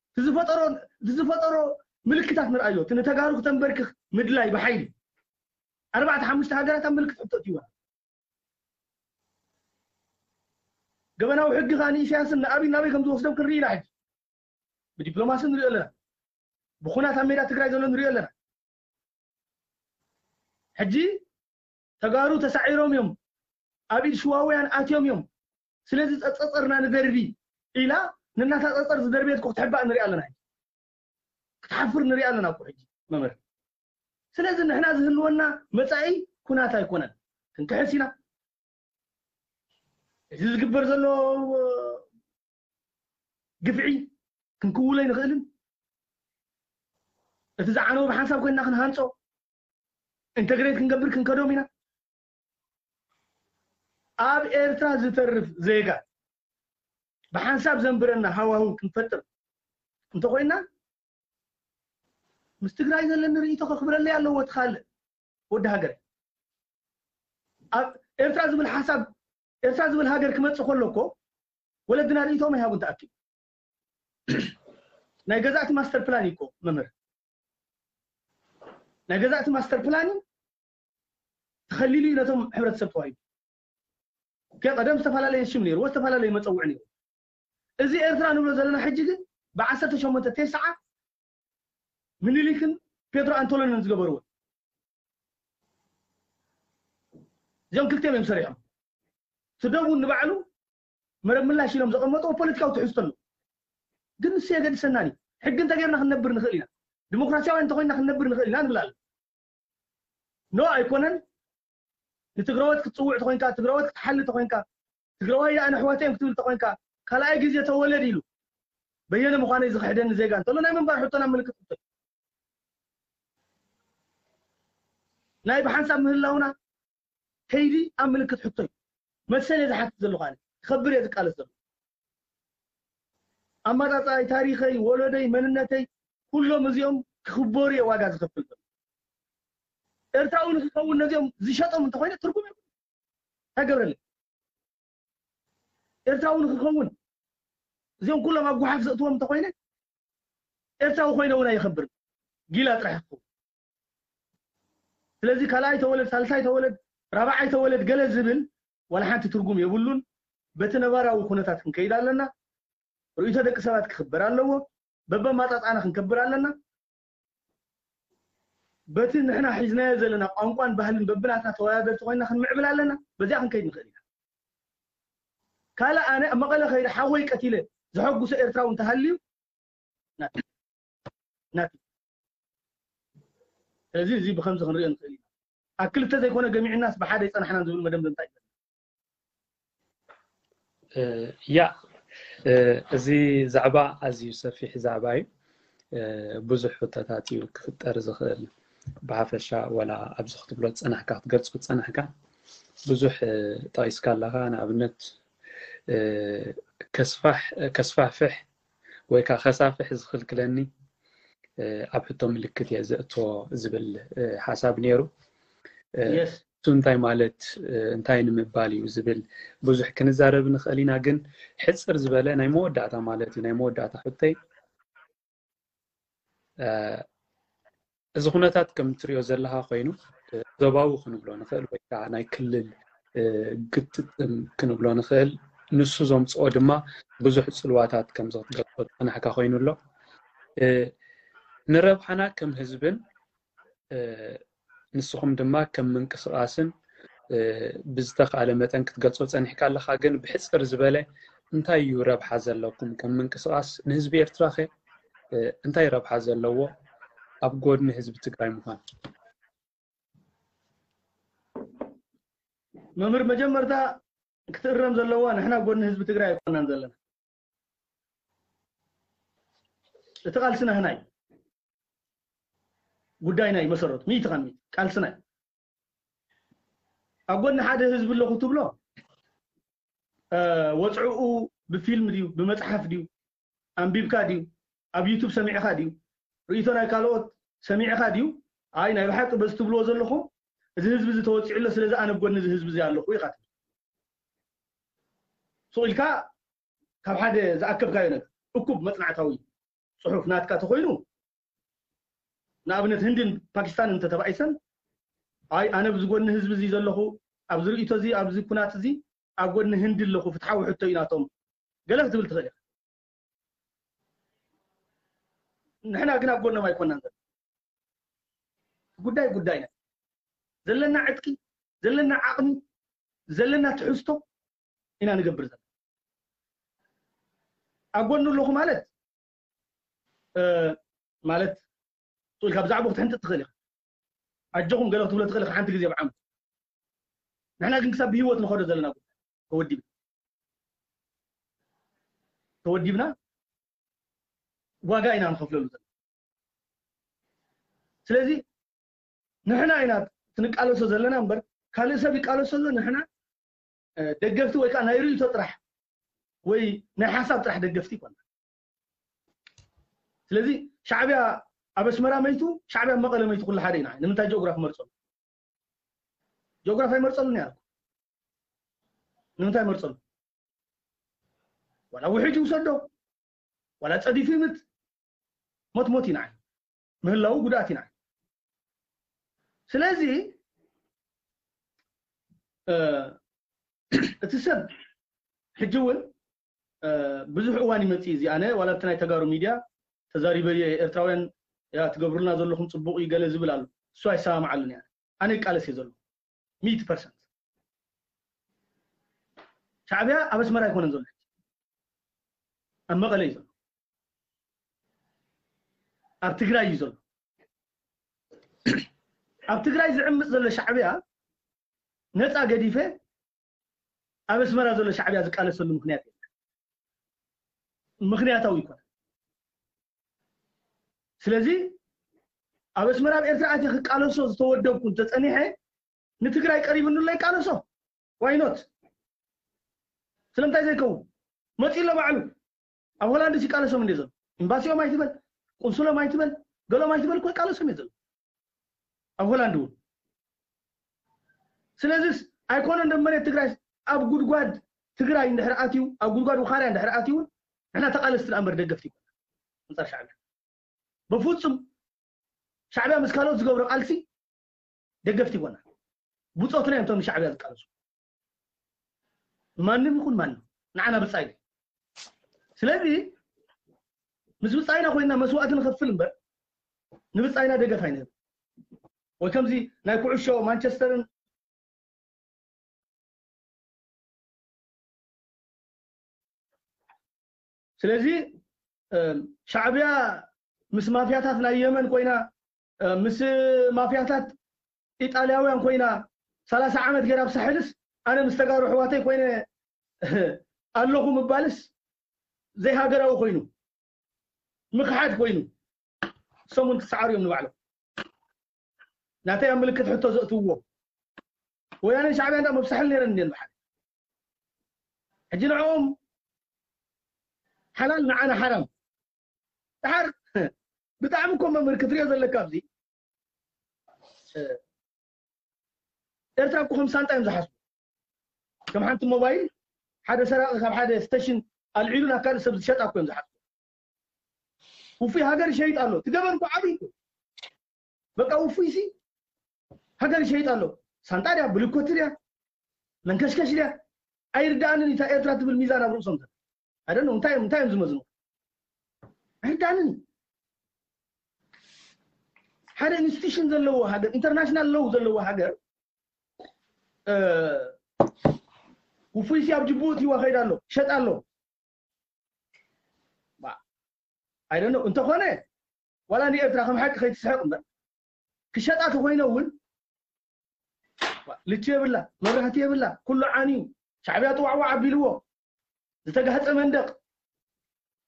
እቲ ዝፈጠሮ እቲ ዝፈጠሮ ምልክታት ንርኣዮ። እቲ ንተጋሩ ክተንበርክኽ ምድላይ ብሓይሊ ኣርባዕተ ሓሙሽተ ሃገራት ኣብ ምልክት ሕቶ እትይዋ። ገበናዊ ሕጊ ከኣ ንኢሳያስን ንኣብይ ናበይ ከም ዝወስዶም ክንርኢ ኢና። ሕጂ ብዲፕሎማሲ ንሪኦ ኣለና፣ ብኩናት ኣብ ሜዳ ትግራይ ዘሎ ንሪኦ ኣለና። ሕጂ ተጋሩ ተሳዒሮም እዮም፣ ኣብ ኢድ ሽዋውያን ኣትዮም እዮም፣ ስለዚ ጸጸርና ንደርቢ ኢላ፣ ንናታ ጸጸር ዝደርበየት እኮ ክትሕባእ ንሪኣ ኣለና። ሕጂ ክትሓፍር ንሪኣ ኣለና እኮ ሕጂ መምህር። ስለዚ ንሕና ዝህልወና መጻኢ ኩናት ኣይኮነን፣ ክንክሕስ ኢና። እዚ ዝግበር ዘሎ ግፍዒ ክንክውሎ ኣይንኽእልን። እቲ ዝዓነወ ብሓንሳብ ኮይንና ክንሃንጾ፣ ኢንተግሬት ክንገብር ክንከዶም ኢና። ኣብ ኤርትራ ዝተርፍ ዜጋ ብሓንሳብ ዘንብረና ሃዋህው ክንፈጥር እንተኾይና፣ ምስ ትግራይ ዘለኒ ርእይቶ ከኽብረለይ ኣለዎ። እቲ ካልእ ወዲ ሃገር ኣብ ኤርትራ ዝብል ሓሳብ፣ ኤርትራ ዝብል ሃገር ክመጽእ ከሎ እኮ ወለድና ርእይቶም ኣይሃቡን ተኣኪቡ። ናይ ገዛእቲ ማስተር ፕላን እዩ እኮ መምህር። ናይ ገዛእቲ ማስተር ፕላን ተኸሊሉ እዩ ነቶም ሕብረተሰብ ተዋሂቡ። ከ ቀደም ዝተፈላለየ ሽም ነይርዎ፣ ዝተፈላለየ መጸውዒ ነይርዎ። እዚ ኤርትራ ንብሎ ዘለና ሕጂ ግን ብዓሰርተ ሸሞንተ ተስዓ ምኒልክን ፔትሮ ኣንቶሎንን ዝገበርዎ። እዚኦም ክልቲኦም እዮም ሰሪሖም። እቲ ደቡብ ንባዕሉ መረብ ምላሽ ኢሎም ዘቐመጥዎ ፖለቲካዊ ትሕዝቶ ኣሎ። ግን ንሱ የገድሰናን እዩ። ሕጊ እንተጌርና ክንነብር ንኽእል ኢና። ዲሞክራሲያውያን እንተኾይንና ክንነብር ንኽእል ኢና ንብል ኣለና። ኖ ኣይኮነን። ንትግራዎት ክትጽውዕ ተኾይንካ፣ ትግራዎት ክትሓሊ ተኾይንካ፣ ትግራዋይ ኣነ ኣሕዋተይ እዮም ክትብል ተኾይንካ፣ ካልኣይ ግዜ ተወለድ ኢሉ በየነ ምዃነይ ዝኽሕደኒ ዜጋ እንተሎ ናይ ምንባር ሕቶ ናብ ምልክት ሕቶ እዩ። ናይ ብሓንሳብ ምህላውና ከይዲ ኣብ ምልክት ሕቶ እዩ። መሰል እየ ዝሓትት ዘለኹ ኣነ። ክኸብር እየ ዝቃለስ ዘለኹ። ኣመጻጽኣይ፣ ታሪኸይ፣ ወለደይ፣ መንነተይ፣ ኩሎም እዚኦም ክኽበሩ እየ ዋጋ ዝኸፍል ዘለኹ። ኤርትራዊ ንክኸውን ነዚኦም ዝሸጦም እንተኾይነ ትርጉም የብሉን። እንታይ ገብረለይ? ኤርትራዊ ንክኸውን እዚኦም ኩሎም ኣብ ጓሓፍ ዘእትዎም እንተኾይነ ኤርትራዊ ኮይነ እውን ኣይኸብርን። ጊላ ጥራሕ ክኸውን። ስለዚ ካልኣይ ተወለድ፣ ሳልሳይ ተወለድ፣ ራብዓይ ተወለድ ገለ ዝብል ዋላ ሓንቲ ትርጉም የብሉን። በቲ ነባራዊ ኩነታት ክንከይድ ኣለና። ርእይቶ ደቂ ሰባት ክኽበር ኣለዎ። በበማጻጻና ክንከብር ኣለና። በቲ ንሕና ሒዝናዮ ዘለና ቋንቋን ባህልን በብናትና ተወዳደርቲ ኮይና ክንምዕብል ኣለና። በዚኣ ክንከይድ ንኽእል ኢና። ካልእ ኣነ ኣብ መቐለ ከይደ ሓወይ ቀቲለ ዘሐጉሶ ኤርትራዊ እንተሃልዩ ናቲ ናቲ። ስለዚ እዚ ብኸምዚ ክንሪኦ ንኽእል ኢና። ኣብ ክልተ ዘይኮነ ገሚዕናስ ብሓደ ይጸናሕናን ዝብል መደምደምታ እዩ። እ፣ ያ እ፣ እዚ ዛዕባ ኣዝዩ ሰፊሕ ዛዕባ እዩ። እ፣ ብዙሕ ሕቶታት እዩ ክፍጠር ዝኽእል። ብሓፈሻ ወላ ኣብዚ ክትብሎ ዝጸናሕካ ክትገልጾ ዝጸናሕካ ብዙሕ እ፣ ጠቒስካ ኣለኻ። ንኣብነት እ፣ ከስፋሕ ከስፋሕፍሕ ወይ ከዓ ከሳፍሕ ዝኽልክለኒ እ፣ ኣብ ሕቶ ምልክት እየ ዘእትዎ ዝብል እ፣ ሓሳብ ነይሩ። እ፣ የስ እሱ እንታይ ማለት እ፣ እንታይ ንምባል እዩ ዝብል ብዙሕ ክንዛረብ ንኽእል ኢና። ግን ሕፅር ዝበለ ናይ መወዳእታ ማለት እዩ ናይ መወዳእታ ሕቶይ እ፣ እዚ ኩነታት ከም ትሪኦ ዘለኻ ኮይኑ እ፣ ዞባዊ ክንብሎ ንኽእል ወይ ከዓ ናይ ክልል እ፣ ግጥጥም ክንብሎ ንኽእል። ንሱ ዘምፅኦ ድማ ብዙሕ ፅልዋታት ከም ዝትገልፆ ዝፀናሕካ ኮይኑ ኣሎ። እ፣ ንረብሓና ከም ህዝብን እ፣ ንስኹም ድማ ከም ምንቅስቓስን እ፣ ብዝተኻእለ መጠን ክትገልፆ ፀኒሕካ ኣለኻ። ግን ብሕፅር ዝበለ እንታይ እዩ ረብሓ ዘለኩም ከም ምንቅስቓስ ንህዝቢ ኤርትራ ኸ? እንታይ ረብሓ ዘለዎ ኣብ ጎድኒ ህዝቢ ትግራይ ምዃን? መምህር፣ መጀመርታ ክትእረም ዘለዋ፣ ንሕና ጎድኒ ህዝቢ ትግራይ ኣይኮናን ዘለና። እቲ ቃልሲ ናህና እዩ። ጉዳይና እዩ መሰረቱ፣ ሚእቲ ካብ ሚእቲ ቃልስና እዩ። ኣብ ጎድኒ ሓደ ህዝቢ ኣለኹ ትብሎ፣ ወፅዕኡ ብፊልም ድዩ፣ ብመፅሓፍ ድዩ፣ ኣንቢብካ ድዩ፣ ኣብ ዩቱብ ሰሚዕካ ድዩ፣ ርእይቶ ናይ ካልኦት ሰሚዕካ ድዩ፣ ኣይ ናይ ብሓቂ በዚ ትብልዎ ዘለኹም እዚ ህዝቢ እዚ ተወፂዑ ኣሎ፣ ስለዚ ኣነ ኣብ ጎድኒ እዚ ህዝቢ እዚ ኣለኹ ኢኻ ትብል። ሱቕ ኢልካ ካብ ሓደ ዝኣከብካዮ ነገር እኩብ መፅናዕታዊ ፅሑፍ ናትካ ተኾይኑ፣ ንኣብነት ህንድን ፓኪስታንን እንተተባኢሰን፣ ኣይ ኣነ ኣብዚ ጎድኒ ህዝቢ እዚ ዘለኹ፣ ኣብዚ ርእይቶ እዚ፣ ኣብዚ ኩናት እዚ ኣብ ጎድኒ ህንዲ ኣለኹ፣ ፍትሓዊ ሕቶ እዩ ናቶም፣ ገለ ክትብል ትኽእል ኢኻ። ንሕና ግን ኣብ ጎኖም ኣይኮናን ዘለና። ጉዳይ ጉዳይና፣ ዘለና ዕጥቂ፣ ዘለና ዓቕሚ፣ ዘለና ትሕዝቶ ኢና ንገብር ዘለና። ኣብ ጎኑ ኣለኹ ማለት ማለት ሱቕ ኢልካ ብዛዕባኡ ክትሕንጥጥ ትኽእል ኢኻ። ኣጆኹም ገለ ክትብሎ ትኽእል ኢኻ ሓንቲ ግዜ ብዓመት። ንሕና ግን ክሳብ ብህይወት ንኸዶ ዘለና ጉዳይ ተወዲብና፣ ተወዲብና ዋጋ ኢና ንኸፍለሉ ዘለና። ስለዚ ንሕና ኢና ክንቃለሶ ዘለና እምበር ካልእ ሰብ ይቃለሶ ኣሎ። ንሕና ደገፍቲ ወይ ከዓ ናይ ርእይቶ ጥራሕ ወይ ናይ ሓሳብ ጥራሕ ደገፍቲ ይኮና። ስለዚ ሻዕቢያ ኣብ ኣስመራ መይቱ፣ ሻዕቢያ ኣብ መቐለ መይቱ ኩሉ ሓደ ኢና። ንምንታይ ጂኦግራፊ መርፀሉ? ጂኦግራፊ ኣይመርፀሉን እያ። ንምንታይ መርፀሉ? ዋላ ውሕጅ ይውሰዶ፣ ዋላ ፀዲፉ ይምት፣ ሞት ሞት ኢና። ምህላው ጉድኣት ኢና። ስለዚ እቲ ሰብ ሕጂ እውን ብዙሕ እዋን ይመፅእ እዚ። ኣነ ዋላ ኣብቲ ናይ ተጋሩ ሚድያ ተዛሪበ እየ፣ ኤርትራውያን ያ ትገብሩልና ዘለኹም ፅቡቕ እዩ ገለ ዝብል ኣሎ። እሱ ኣይሰማማዓሉን እያ። ኣነ ይቃለስ እየ ዘሎ ሚእቲ ፐርሰንት። ሻዕቢያ ኣብ ኣስመራ ኣይኮነን ዘሎ፣ ኣብ መቐለ እዩ ዘሎ፣ ኣብ ትግራይ እዩ ዘሎ። ኣብ ትግራይ ዝዕምፅ ዘሎ ሻዕቢያ ነፃ ገዲፈ ኣብ ኣስመራ ዘሎ ሻዕቢያ ዝቃለሰሉ ምክንያት የለን። ምክንያታዊ ይኮነ። ስለዚ ኣብ ኣስመራ ኣብ ኤርትራ ኣትየ ክቃለሶ ዝተወደብኩ እንተፀኒሐ ንትግራይ ቀሪብኒ ኣሎ ይቃለሶ። ዋይኖት? ስለምንታይ ዘይከውን? መፂ ኣሎ ባዕሉ። ኣብ ሆላንድ ይቃለሶም እንደ ዘሎ ኤምባሲኦም ኣይትበል፣ ቁንስሎም ኣይትበል፣ ገሎም ኣይትበል እኮ ይቃለሶም እየ ዘሎ ኣብ ሆላንድ እውን። ስለዚስ ኣይኮነን ዶ መሬት ትግራይ ኣብ ጉድጓድ ትግራይ እንድሕር ኣትዩ፣ ኣብ ጉድጓድ ውኻርያ እንድሕር ኣትዩ እውን ንሕና ተቃለስቲ ደኣ እምበር ደገፍቲ ኣይኮና ኣንፃር ሻዕቢያ። በፍፁም ሻዕቢያ ምስ ካልኦት ዝገብሮ ቃልሲ ደገፍቲ ኣይኮና። ብፆትና እዮም እቶም ንሻዕቢያ ዝቃለሱ። ማንም ይኹን ማንም ንዓና ብፃይ። ስለዚ ምስ ብፃይና ኮይና መስዋእቲ ንኸፍል እምበር ንብፃይና ደገፍ ኣይንህብ። ወይ ከምዚ ናይ ኩዕሾ ማንቸስተርን ስለዚ ሻዕቢያ ምስ ማፍያታት ናይ የመን ኮይና ምስ ማፍያታት ኢጣልያውያን ኮይና ሰላሳ ዓመት ገይራ ኣብ ሳሕልስ ኣነ ምስ ተጋሩ ኣሕዋተይ ኮይነ ኣለኹ ምባልስ ዘይሃገራዊ ኮይኑ ምኽሓድ ኮይኑ እሶም እውን ክሰዓሩ እዮም ንባዕሎም። ናተይ ኣብ ምልክት ሕቶ ዘእትውዎ ወያነን ሻዕቢያን ደኣ መብሳሕል ነይረን እንድየን ብሓደ ሕጂ ንዕኦም ሓላል ንዓና ሓራም። ድሓር ብጣዕሚ እኮ መምህር ክትሪኦ ዘለካ ኣብዚ ኤርትራ እኮ ከም ሳንጣ እዮም ዝሓስቡ። ከም ሓንቲ ሞባይል ሓደ ሰራቂ ካብ ሓደ ስቴሽን ኣልዒሉ ናብ ካልእ ሰብ ዝሸጣ እኮ እዮም ዝሓስቡ። ውፉይ ሃገር ይሸይጥ ኣሎ። እቲ ገበን እኮ ዓብዪ እኮ። በቃ ውፉይ ሲ ሃገር ይሸይጥ ኣሎ። ሳንጣ ድያ ብልኮቲ ድያ መንከሽከሽ ድያ ኣይርዳእንን። እታ ኤርትራ ትብል ሚዛን ኣብ ርእሶም ዘሎ ኣይደለ እንታይ እንታይ እዮም ዝመዝኑ ኣይርዳእንን። ሓደ ኢንስቲቱሽን ዘለዎ ሃገር ኢንተርናሽናል ሎው ዘለዎ ሃገር ውፉይ ሲ ኣብ ጅቡቲ ይዋ ከይዳ ኣሎ ሸጣ ኣሎ። I don't know እንተኾነ ዋላ ንኤርትራ ከም ሓቂ ከይትስሕቕ እምበር ክሸጣ ተኮይነ እውን ልቺ የብላ፣ መብራህቲ የብላ፣ ኩሉ ዓንዩ፣ ሻዕብያ ጥዋዕዋዕ ኣቢልዎ ዝተጋህፀ መንደቕ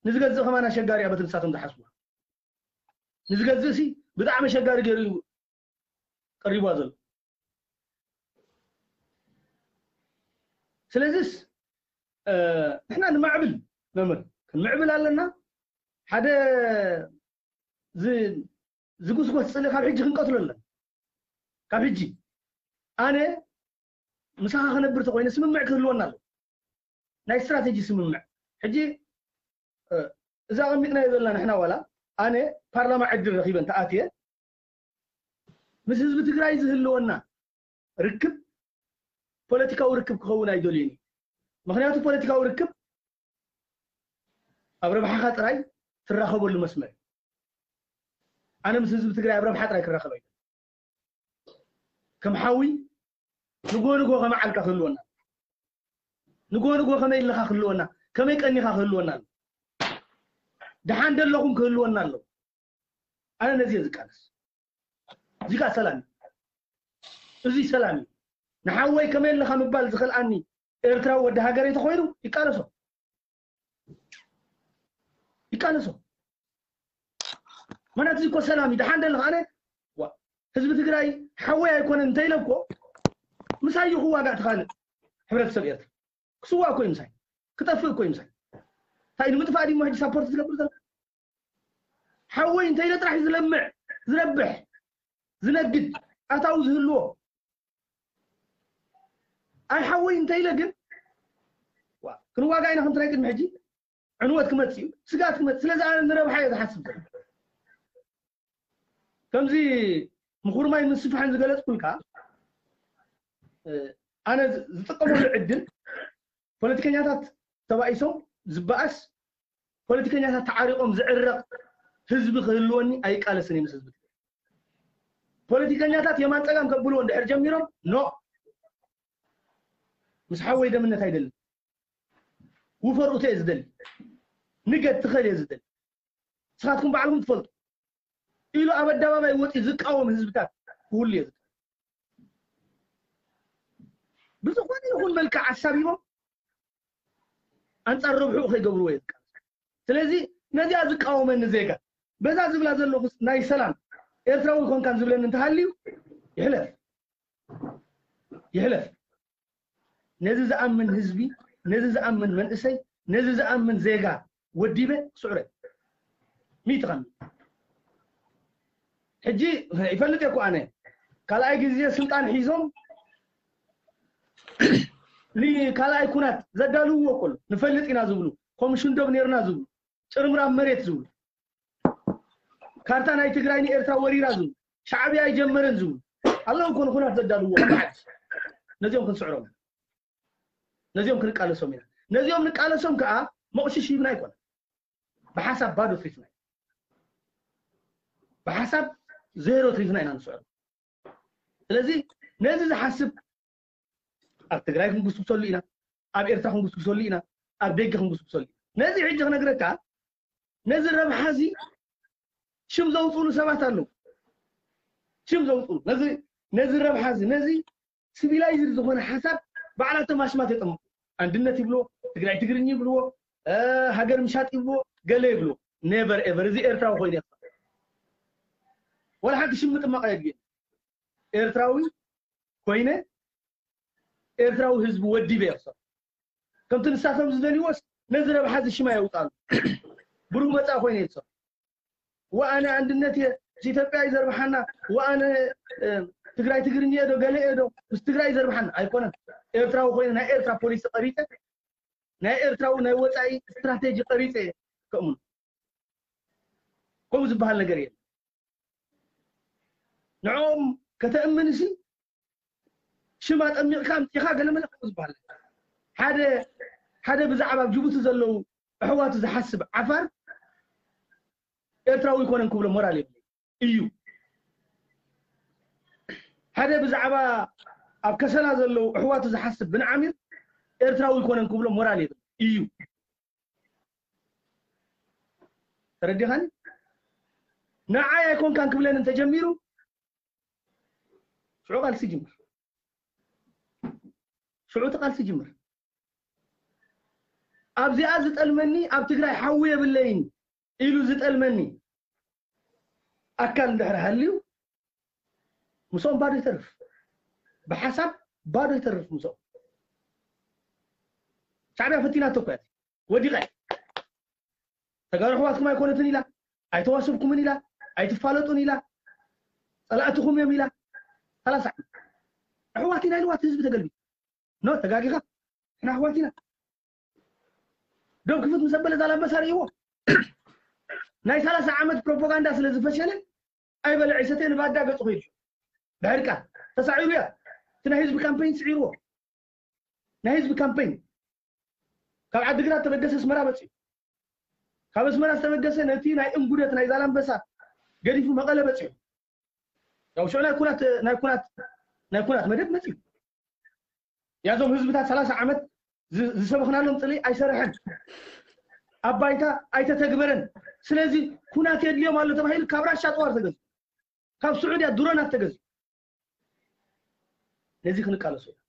ንዝገዝእ ከማን ኣሸጋሪ እያ በቲ ንሳቶም ዝሓስቡ። ንዝገዝእ ሲ ብጣዕሚ ኣሸጋሪ ገይሩ እዩ ቀሪቧ ዘሎ። ስለዚስ ንሕና ንማዕብል መምህር ክንምዕብል ኣለና። ሓደ ዝጉስጎስ ፅሊ ካብ ሕጂ ክንቀትሎ ኣለና። ካብ ሕጂ ኣነ ምሳኻ ክነብር ተኮይነ ስምምዕ ክህልወና ኣሎ። ናይ ስትራቴጂ ስምምዕ። ሕጂ እዛ ኣቐሚጥናዮ ዘለና ንሕና ዋላ ኣነ ፓርላማ ዕድል ረኺበ እንተኣትየ ምስ ህዝቢ ትግራይ ዝህልወና ርክብ ፖለቲካዊ ርክብ ክኸውን ኣይደልዩን እዩ። ምክንያቱ ፖለቲካዊ ርክብ ኣብ ረብሓኻ ጥራይ ትራኸበሉ መስመር እዩ። ኣነ ምስ ህዝቢ ትግራይ ኣብ ረብሓ ጥራይ ክራኸብ ኣይደልን። ከም ሓዊ ንጎ ንጎ ከመዓልካ ክህልወና፣ ንጎ ንጎ ከመይ ኣለኻ ክህልወና፣ ከመይ ቀኒኻ ክህልወና ኣሎ። ደሓን ደለኹም ክህልወና ኣሎ። ኣነ ነዚ እየ ዝቃለስ። እዚ ከኣ ሰላም እዩ። እዚ ሰላም እዩ። ንሓወይ ከመይ ኣለኻ ምባል ዝኸልኣኒ ኤርትራዊ ወዲ ሃገረይ ተኾይኑ ይቃለሶ። ይቃለሶ። ማለት እዚ እኮ ሰላም እዩ። ደሓን ደለኻ ኣነ ዋ ህዝቢ ትግራይ ሓወይ ኣይኮነን እንተኢለ እኮ ምሳይ እዩ ክዋጋእ ትኻልእ ሕብረተሰብ ኤርትራ ክስዋእ እኮ እዩ ምሳይ ክጠፍእ እኮ እዩ ምሳይ እንታይ ንምጥፋእ ድሞ ሕጂ ሳፖርት ዝገብር ዘሎ ሓወይ እንተኢለ ጥራሕ እዩ ዝለምዕ ዝረብሕ ዝነግድ ኣታዊ ዝህልዎ ኣይ ሓወይ እንተኢለ ግን ክንዋጋ ኢና ከምቲ ናይ ቅድሚ ሕጂ ዕንወት ክመፅእ እዩ ስጋት ክመፅእ ስለዚ ኣነ ንረብሓ እየ ዝሓስብ ዘሎ ከምዚ ምኹርማይ ምስፍሓን ዝገለፅኩልካ ኣነ ዝጥቀመሉ ዕድል ፖለቲከኛታት ተባኢሶም ዝበኣስ ፖለቲከኛታት ተዓሪቆም ዝዕረቕ ህዝቢ ክህልወኒ ኣይቃለስን እየ ምስ ህዝቢ ፖለቲከኛታት የማን ፀጋም ከብልዎ እንድሕር ጀሚሮም ኖ ምስ ሓወይ ደምነት ኣይደልን ውፈር ኡተ እየ ዝደሊ ንገድ ትኸል እየ ዝደሊ ንስኻትኩም ባዕልኩም ትፈልጡ ኢሉ ኣብ ኣደባባይ ወፂኡ ዝቃወም ህዝብታት ክህሉ እየ ዝደሊ ብዝኾነ ይኹን መልክዕ ኣሳቢቦም ኣንፃር ረብሕኡ ከይገብርዎ እየ ዝቃለስ ስለዚ ነዚኣ ዝቃወመኒ ዜጋ በዛ ዝብላ ዘለኹ ናይ ሰላም ኤርትራዊ ኮንካን ዝብለኒ እንተሃልዩ ይሕለፍ ይሕለፍ ነዚ ዝኣምን ህዝቢ ነዚ ዝኣምን መንእሰይ ነዚ ዝኣምን ዜጋ ወዲበ ክስዕረ ሚእቲ ከም ሕጂ ይፈልጥ እኮ ኣነ ካልኣይ ግዜ ስልጣን ሒዞም ንካልኣይ ኩናት ዘዳልውዎ እኮ ንፈልጥ ኢና ዝብሉ ኮሚሽን ዶብ ነርና ዝብሉ ጭርምራም መሬት ዝብሉ ካርታ ናይ ትግራይ ንኤርትራ ወሪራ ዝብሉ ሻዕብያ ኣይጀመረን ዝብሉ ኣለዉ እኮ ንኩናት ዘዳልውዎ ዓዲ ነዚኦም ክንስዕሮም ነዚኦም ክንቃለሶም ኢና ነዚኦም ንቃለሶም ከዓ መቑሽሽ ሂብና ኣይኮነ ብሓሳብ ባዶ ትሪፍና ብሓሳብ ዜሮ ትሪፍና ኢና ንስዕሮ ስለዚ ነዚ ዝሓስብ ኣብ ትግራይ ክንጉስጉሰሉ ኢና ኣብ ኤርትራ ክንጉስጉሰሉ ኢና ኣብ ደገ ክንጉስጉሰሉ ነዚ ሕጂ ክነግረካ ነዚ ረብሓ እዚ ሽም ዘውፅሉ ሰባት ኣለዉ ሽም ዘውፅሉ ነዚ ነዚ ረብሓ እዚ ነዚ ሲቪላይዝድ ዝኾነ ሓሳብ ባዕላቶም ኣሽማት የጠምቁ ኣንድነት ይብልዎ ትግራይ ትግርኝ ይብልዎ ሃገር ምሻጥ ይብልዎ ገለ ይብልዎ never ever እዚ ኤርትራዊ ኮይኑ ወላ ሓንቲ ሽም ምጥማቕ ኣየድልየን ኤርትራዊ ኮይነ ኤርትራዊ ህዝቢ ወዲበ እየ ክሰርሕ ከምቲ ንሳቶም ዝደልይዎስ ነዚ ረብሓ እዚ ሽማ የውፃሉ ብሩህ መፃኢ ኮይነ እየ ዝሰርሕ ወኣነ ኣንድነት እየ ምስ ኢትዮጵያ እዩ ዘርብሓና ወኣነ ትግራይ ትግርኛ እየ ዶ ገለ እየ ዶ ምስ ትግራይ እዩ ዘርብሓና ኣይኮነን ኤርትራዊ ኮይነ ናይ ኤርትራ ፖሊሲ ቀሪፀ ናይ ኤርትራዊ ናይ ወፃኢ ስትራቴጂ ቀሪፀ እየ ከእምኑ ከምኡ ዝበሃል ነገር የለን ንዕኦም ከተእምን ሲ ሽም ኣጠሚቕካ ኣምፂኻ ገለመለ ከምኡ ዝበሃል ሓደ ሓደ ብዛዕባ ኣብ ጅቡቲ ዘለዉ ኣሕዋቱ ዝሓስብ ዓፋር ኤርትራዊ ይኮነን ክብሎ ሞራል የብለይ እዩ ሓደ ብዛዕባ ኣብ ከሰላ ዘለዉ ኣሕዋቱ ዝሓስብ ብንዓሚር ኤርትራዊ ይኮነን ክብሎ ሞራል የብለይ እዩ ተረዲኻኒ? ንዓይ ኣይኮንካን ክብለኒ እንተጀሚሩ ሽዑ ቃልሲ ይጅምር። ሽዑ እቲ ቃልሲ ይጅምር። ኣብዚኣ ዝጠልመኒ ኣብ ትግራይ ሓዊ የብለይን ኢሉ ዝጠልመኒ ኣካል እንድሕር ሃልዩ ምስኦም ባዶ ይተርፍ። ብሓሳብ ባዶ ይተርፍ ምስኦም። ሻዕብያ ፈቲናቶ እኮ እያ። ወዲቐ ተጋሩ ኣሕዋትኩም ኣይኮነትን ኢላ፣ ኣይተዋስብኩምን ኢላ፣ ኣይትፋለጡን ኢላ፣ ጸላእትኹም እዮም ኢላ። ሰላሳ ዓመት ኣሕዋት ኢና ኢልዋ እቲ ህዝቢ ተገልቢጡ። ኖ ተጋጊኻ፣ ንሕና ኣሕዋት ኢና። ዶብ ክፍት ምስ ኣበለ ዛላምበሳ ርእይዎ። ናይ ሰላሳ ዓመት ፕሮፓጋንዳ ስለ ዝፈሸለ ኣይበልዕ ይሰተ ንባዳ ገጹ ኸይዱ። ድሕሪ ቃል ተሳዒሩ እያ። እቲ ናይ ህዝቢ ካምፔይን ስዒርዎ። ናይ ህዝቢ ካምፔይን ካብ ዓዲግራት ተበገሰ ኣስመራ መፅዩ። ካብ ኣስመራ ዝተበገሰ ነቲ ናይ እንጉደት ናይ ዛላምበሳ ገዲፉ መቐለ በፂሑ። ያው ሽዑ ናይ ኩናት ናይ ኩናት ናይ ኩናት መደብ መፅዩ። ያዞም ህዝብታት ሰላሳ ዓመት ዝ- ዝሰበኽናሎም ፅልኢ ኣይሰረሐን፣ ኣብ ባይታ ኣይተተግበረን። ስለዚ ኩናት የድልዮም ኣሎ ተባሂሉ ካብ ራሻ ጥዋር ተገዙ፣ ካብ ስዑድያ ድሮናት ተገዙ። ነዚ ክንቃለሶ ኢና።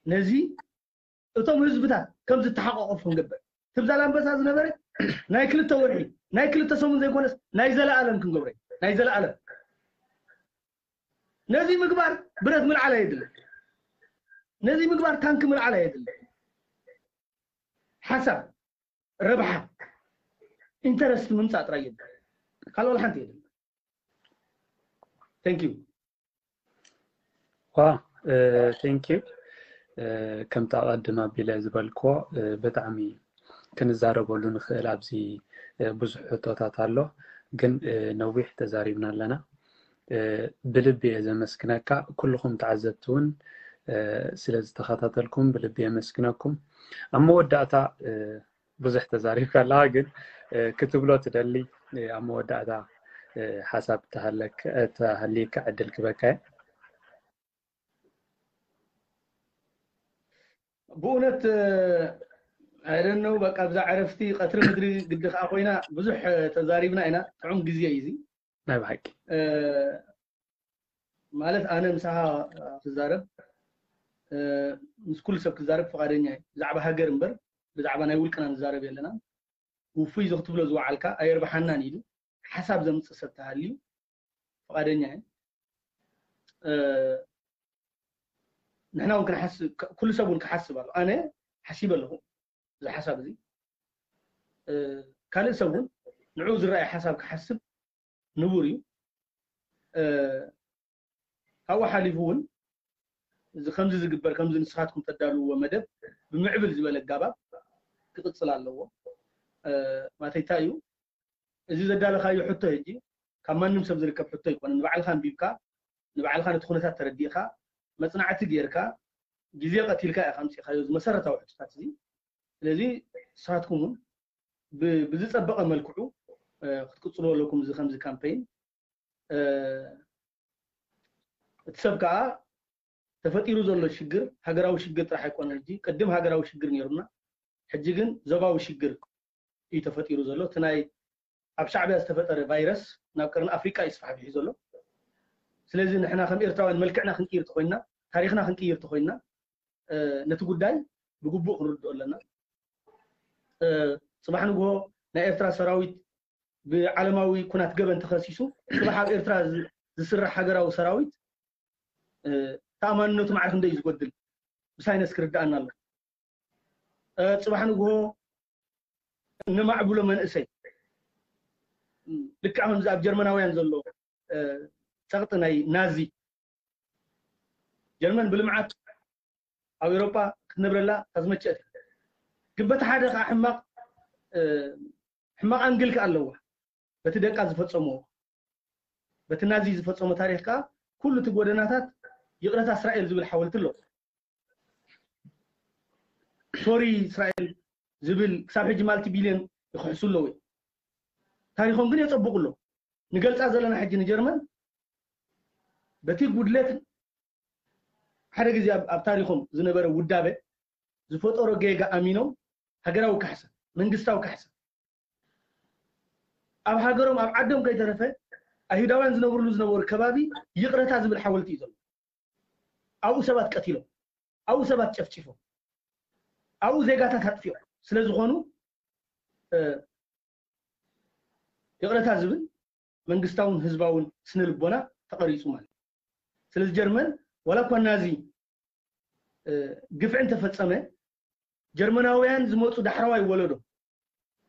ነዚ እቶም ህዝብታት ከም ዝተሓቋቆፉ ክንገብር። ትብ ዛላምበሳ ዝነበረ ናይ ክልተ ወርሒ ናይ ክልተ ሰሙን ዘይኮነስ ናይ ዘለኣለም ክንገብሮ ኢና። ናይ ዘለኣለም ነዚ ምግባር ብረት ምልዓል ኣየድልን። ነዚ ምግባር ታንክ ምልዓል ኣየድልን። ሓሳብ ረብሓ ኢንተረስት ምምፃእ ጥራይ የድሊ። ካልኦ ሓንቲ የድሊ። Thank you። ዋ thank you። ከምቲ ኣቐድም ኣቢለ ዝበልክዎ ብጣዕሚ ክንዛረበሉ ንኽእል ኣብዚ ብዙሕ ሕቶታት ኣሎ፣ ግን ነዊሕ ተዛሪብና ኣለና። ብልቢ እየ ዘመስግነካ። ኩልኹም ተዓዘብቲ እውን ስለ ዝተኸታተልኩም ብልቢ የመስግነኩም። ኣብ መወዳእታ ብዙሕ ተዛሪብካ ኣለኻ፣ ግን ክትብሎ ትደሊ ኣብ መወዳእታ ሓሳብ ተሃልየካ ዕድል ክበካ እየ። ብእውነት I don't know፣ በቃ ብዛ ዕረፍቲ ቀትሪ ምድሪ ግዲ ከዓ ኮይና ብዙሕ ተዛሪብና ኢና። ጥዑም ግዜ እዩ እዚ። ናይ ብሓቂ ማለት ኣነ ምሳኻ ክዛረብ ምስ ኩሉ ሰብ ክዛረብ ፍቓደኛ እየ። ብዛዕባ ሃገር እምበር ብዛዕባ ናይ ውልቅና ንዛረብ የለና። ውፉይ እዚ ክትብሎ ዝወዓልካ ኣየርብሓናን ኢሉ ሓሳብ ዘምፅእ ሰብ ተሃልዩ ፍቓደኛ እየ። ንሕና እውን ክንሓስብ፣ ኩሉ ሰብ እውን ክሓስብ ኣሎ። ኣነ ሓሲበ ኣለኹ እዚ ሓሳብ እዚ። ካልእ ሰብ እውን ንዕኡ ዝረኣየ ሓሳብ ክሓስብ ንቡር እዩ። ካብኡ ሓሊፉ እውን እዚ ከምዚ ዝግበር ከምዚ ንስኻትኩም ተዳልውዎ መደብ ብምዕብል ዝበለ ኣጋባብ ክቕፅል ኣለዎ። ማተይ እንታይ እዩ እዚ ዘዳለኻዮ ሕቶ ሕጂ ካብ ማንም ሰብ ዝርከብ ሕቶ ኣይኮነን። ንባዕልኻ ኣንቢብካ ንባዕልኻ ነቲ ኩነታት ተረዲእካ መፅናዕቲ ጌርካ ግዜ ቀቲልካ ኢኻ ኣምፂእኻዮ እዚ መሰረታዊ ሕቶታት እዚ። ስለዚ ንስኻትኩም እውን ብዝፀበቐ መልክዑ ክትቅፅሉ ኣለኩም እዚ ከምዚ ካምፔይን። እቲ ሰብ ከዓ ተፈጢሩ ዘሎ ሽግር ሃገራዊ ሽግር ጥራሕ ኣይኮነን። ሕጂ ቅድም ሃገራዊ ሽግር ነይሩና፣ ሕጂ ግን ዞባዊ ሽግር እዩ ተፈጢሩ ዘሎ። እቲ ናይ ኣብ ሻዕብያ ዝተፈጠረ ቫይረስ ናብ ቀርኒ ኣፍሪቃ እዩ ስፋሕፊሑ ዘሎ። ስለዚ ንሕና ከም ኤርትራውያን መልክዕና ክንቅይር ተኮይንና፣ ታሪኽና ክንቅይር ተኮይንና ነቲ ጉዳይ ብግቡእ ክንርድኦ ኣለና። ፅባሕ ንግሆ ናይ ኤርትራ ሰራዊት ብዓለማዊ ኩናት ገበን ተኸሲሱ ፅባሕ ኣብ ኤርትራ ዝስራሕ ሃገራዊ ሰራዊት ተኣማንነቱ ማዕረ ክንደይ እዩ ዝጎድል ብሳይነስ ክርድኣና ኣሎ። ፅባሕ ንግሆ እነማዕብሎ መንእሰይ ልክዕ ከምዚ ኣብ ጀርመናውያን ዘሎ ፀቕጢ ናይ ናዚ ጀርመን ብልምዓት ኣብ ኤውሮጳ ክትነብረላ ተዝመቸት ግን በቲ ሓደ ከዓ ሕማቕ ሕማቕ ኣንግል ከዓ ኣለዋ። በቲ ደቃ ዝፈፀምዎ በቲ ናዚ ዝፈፀሞ ታሪኽ ከዓ ኩሉ እቲ ጎደናታት ይቕረታ እስራኤል ዝብል ሓወልቲ ኣለዎ። ሶሪ እስራኤል ዝብል ክሳብ ሕጂ ማልቲ ቢልዮን ይክሕሱ ኣለዉ እዮም። ታሪኾም ግን የፀብቑ ኣለዉ። ንገልፃ ዘለና ሕጂ ንጀርመን በቲ ጉድለት ሓደ ግዜ ኣብ ታሪኾም ዝነበረ ውዳበ ዝፈጠሮ ጌጋ ኣሚኖም ሃገራዊ ካሕሳ መንግስታዊ ካሕሳ ኣብ ሃገሮም ኣብ ዓዶም ከይተረፈ ኣይሁዳውያን ዝነብርሉ ዝነበሩ ከባቢ ይቕረታ ዝብል ሓወልቲ እዩ ዘሎ። ኣብኡ ሰባት ቀቲሎም፣ ኣብኡ ሰባት ጨፍጭፎም፣ ኣብኡ ዜጋታት ኣጥፊኦም ስለ ዝኾኑ ይቕረታ ዝብል መንግስታውን ህዝባውን ስነ ልቦና ተቐሪፁ ማለት እዩ። ስለዚ ጀርመን ዋላ እኳ ናዚ ግፍዒ እንተፈፀመ ጀርመናውያን ዝመፁ ዳሕረዋይ ወለዶ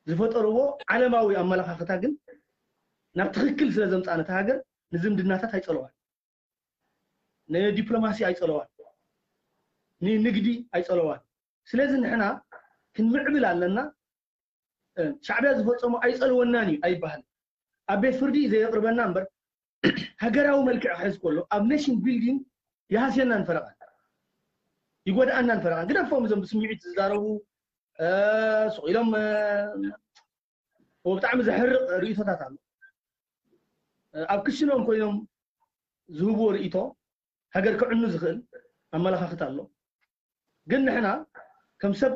ዝፈጠርዎ ዓለማዊ ኣመለኻኽታ ግን ናብ ትኽክል ስለ ዘምፃ ነታ ሃገር ንዝምድናታት ኣይፀለዋን፣ ንዲፕሎማሲ ኣይፀለዋን፣ ንንግዲ ኣይፀለዋን። ስለዚ ንሕና ክንምዕብል ኣለና። ሻዕቢያ ዝፈፀሞ ኣይፀልወናን እዩ ኣይበሃል። ኣብ ቤት ፍርዲ ዘየቅርበና እምበር ሃገራዊ መልክዕ ክሕዝ ከሎ ኣብ ኔሽን ቢልዲንግ ይሃስየናን ፈረቓን ይጎድኣናን ፈረቓን። ግደፎም እዞም ብስምዒት ዝዛረቡ ስቕ ኢሎም ብጣዕሚ ዘሕርቕ ርእቶታት ኣሎ። ኣብ ክሽኖም ኮይኖም ዝህብዎ ርእቶ ሃገር ክዕኑ ዝኽእል ኣመለኻኽት ኣሎ። ግን ንሕና ከም ሰብ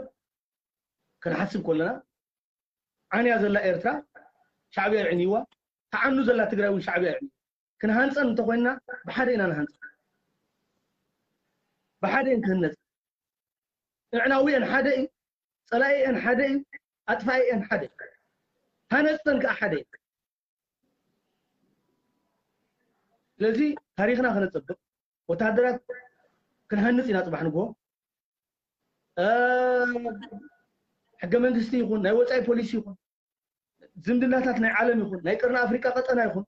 ክንሓስብ ከለና ዓንያ ዘላ ኤርትራ ሻዕብያ ይዕንይዋ፣ ተዓኑ ዘላ ትግራይ እውን ሻዕብያ ይዕንዩ። ክንሃንፀን እንተኮይንና ብሓደ ኢና ንሃንፀን፣ ብሓደ እየን ክህነፀን። እዕናዊአን ሓደ እዩ፣ ፀላኢአን ሓደ እዩ፣ ኣጥፋኢአን ሓደ እዩ፣ ሃነፅተን ከዓ ሓደ እዩ። ስለዚ ታሪክና ከነፀብቅ ወታደራት ክንሃንፅ ኢና ፅባሕ ንግሆ። ሕገ መንግስቲ ይኹን ናይ ወፃኢ ፖሊሲ ይኹን ዝምድናታት ናይ ዓለም ይኹን ናይ ቅርኒ ኣፍሪቃ ቀጠና ይኹን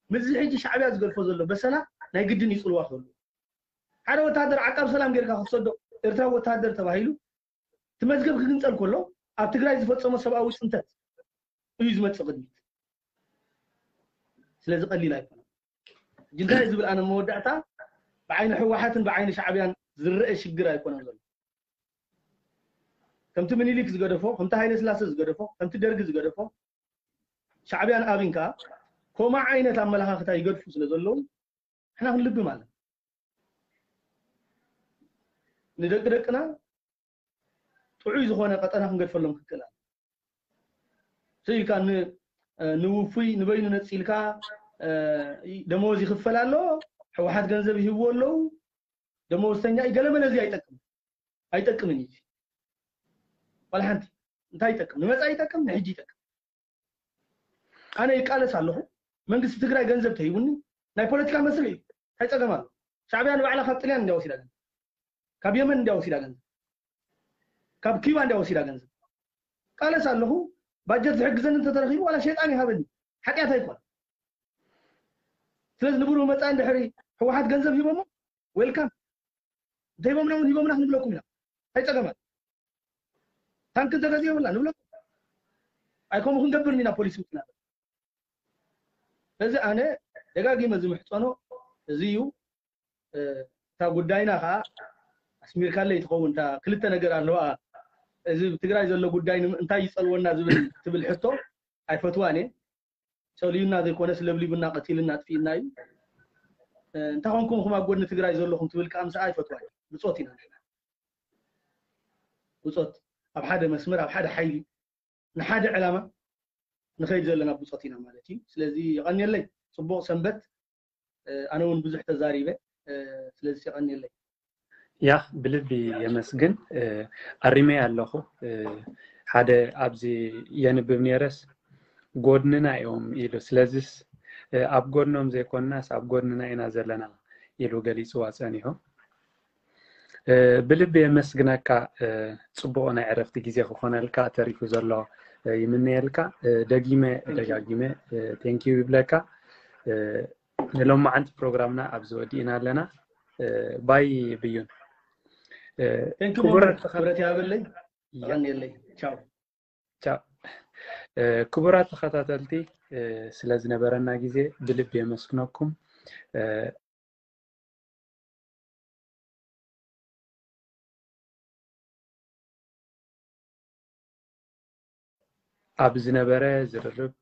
ምስዚ ሕጂ ሻዕብያ ዝገድፎ ዘሎ በሰላ ናይ ግድን ይፅልዋ ክህሉ ሓደ ወታደር ዓቃብ ሰላም ጌርካ ክትሰዶ ኤርትራዊ ወታደር ተባሂሉ እቲ መዝገብ ክግንፀል ከሎ ኣብ ትግራይ ዝፈፀሞ ሰብኣዊ ፅንተት እዩ ዝመፅእ ቅድሚት። ስለዚ ቀሊል ኣይኮነን። ሕጂ እንታይ ዝብል ኣነ መወዳእታ ብዓይኒ ህወሓትን ብዓይኒ ሻዕብያን ዝረአ ሽግር ኣይኮነን ዘሎ። ከምቲ ምኒልክ ዝገደፎ፣ ከምቲ ሃይለ ስላሰ ዝገደፎ፣ ከምቲ ደርጊ ዝገደፎ ሻዕብያን ኣብን ከዓ ከምኡ ዓይነት ኣመለኻኽታ ይገድፉ ስለ ዘለዉ ንሕና ክንልብም ኣለና። ንደቂ ደቅና ጥዑይ ዝኾነ ቀጠና ክንገድፈሎም ክክእል ኣሎ። ስኢልካ ንውፉይ ንበይኑ ነፂልካ ደመወዝ ይኽፈል ኣሎ፣ ሕወሓት ገንዘብ ይህብዎ ኣለዉ፣ ደመወዝተኛ እዩ ገለመለ እዚ ኣይጠቅም ኣይጠቅምን እዩ። ዋላ ሓንቲ እንታይ ይጠቅም? ንመፃኢ ይጠቅም፣ ንሕጂ ይጠቅም። ኣነ ይቃለስ ኣለኹ። መንግስቲ ትግራይ ገንዘብ ተሂቡኒ ናይ ፖለቲካ መስርሕ እዩ። እንታይ ፀገም ኣሎ? ሻዕብያ ንባዕላ ካብ ጥልያን እንዲያ ወሲዳ ገንዘብ፣ ካብ የመን እንዲያ ወሲዳ ገንዘብ፣ ካብ ኪባ እንዲያ ወሲዳ ገንዘብ። ቃለስ ኣለኹ። ባጀት ዝሕግዘኒ እንተተረኺቡ ዋላ ሸይጣን ይሃበኒ፣ ሓጢኣት ኣይኮን። ስለዚ ንብሩህ መፃኢ እንድሕሪ ህወሓት ገንዘብ ሂቦሞ ዌልካም፣ እንተሂቦምና እውን ሂቦምና ክንብለኩም ኢና። እንታይ ፀገም ኣሎ? ታንክ እንተገዚኦምና ንብለኩም። ኣይከምኡ ክንገብር ኢና ፖሊሲ ውፅና። ስለዚ ኣነ ደጋጊመ ዝምሕፀኖ እዚ እዩ። እታ ጉዳይና ከዓ ኣስሚርካለይ ትኸውን። እታ ክልተ ነገር ኣለዋ። እዚ ትግራይ ዘሎ ጉዳይ እንታይ ይፀልወና ዝብል ትብል ሕቶ ኣይፈትዋን እየ። ፀልዩና ዘይኮነስ ለብሊቡና ቀቲልና ኣጥፊእና እዩ። እንታይ ኮንኩም ኹም ኣብ ጎድኒ ትግራይ ዘለኹም ትብል ከዓ ምስኣ ኣይፈትዋን። ብፆት ኢና ንሕና ብፆት ኣብ ሓደ መስመር ኣብ ሓደ ሓይሊ ንሓደ ዕላማ ንኸይድ ዘለና ብፆት ኢና ማለት እዩ። ስለዚ የቐንየለይ፣ ፅቡቕ ሰንበት። ኣነ እውን ብዙሕ ተዛሪበ፣ ስለዚ የቐንየለይ። ያ ብልቢ የመስግን። ኣሪመ ኣለኹ። ሓደ ኣብዚ የንብብ ነረስ ጎድንና እዮም ኢሉ፣ ስለዚስ ኣብ ጎድኖም ዘይኮንናስ ኣብ ጎድንና ኢና ዘለና ኢሉ ገሊፅዋ ፀኒሑ። ብልቢ የመስግነካ። ፅቡቕ ናይ ዕረፍቲ ግዜ ክኾነልካ ተሪፉ ዘሎ ይምነየልካ። ደጊመ ደጋጊመ ቴንኪዩ ይብለካ። ንሎማዓንቲ ፕሮግራምና ኣብዚ ወዲእና ኣለና። ባይ ብዩን። ክቡራት ክብረት ያበለይ። ቻው። ክቡራት ተኸታተልቲ፣ ስለ ዝነበረና ግዜ ብልቢ የመስግነኩም። ኣብ ዝነበረ ዝርርብ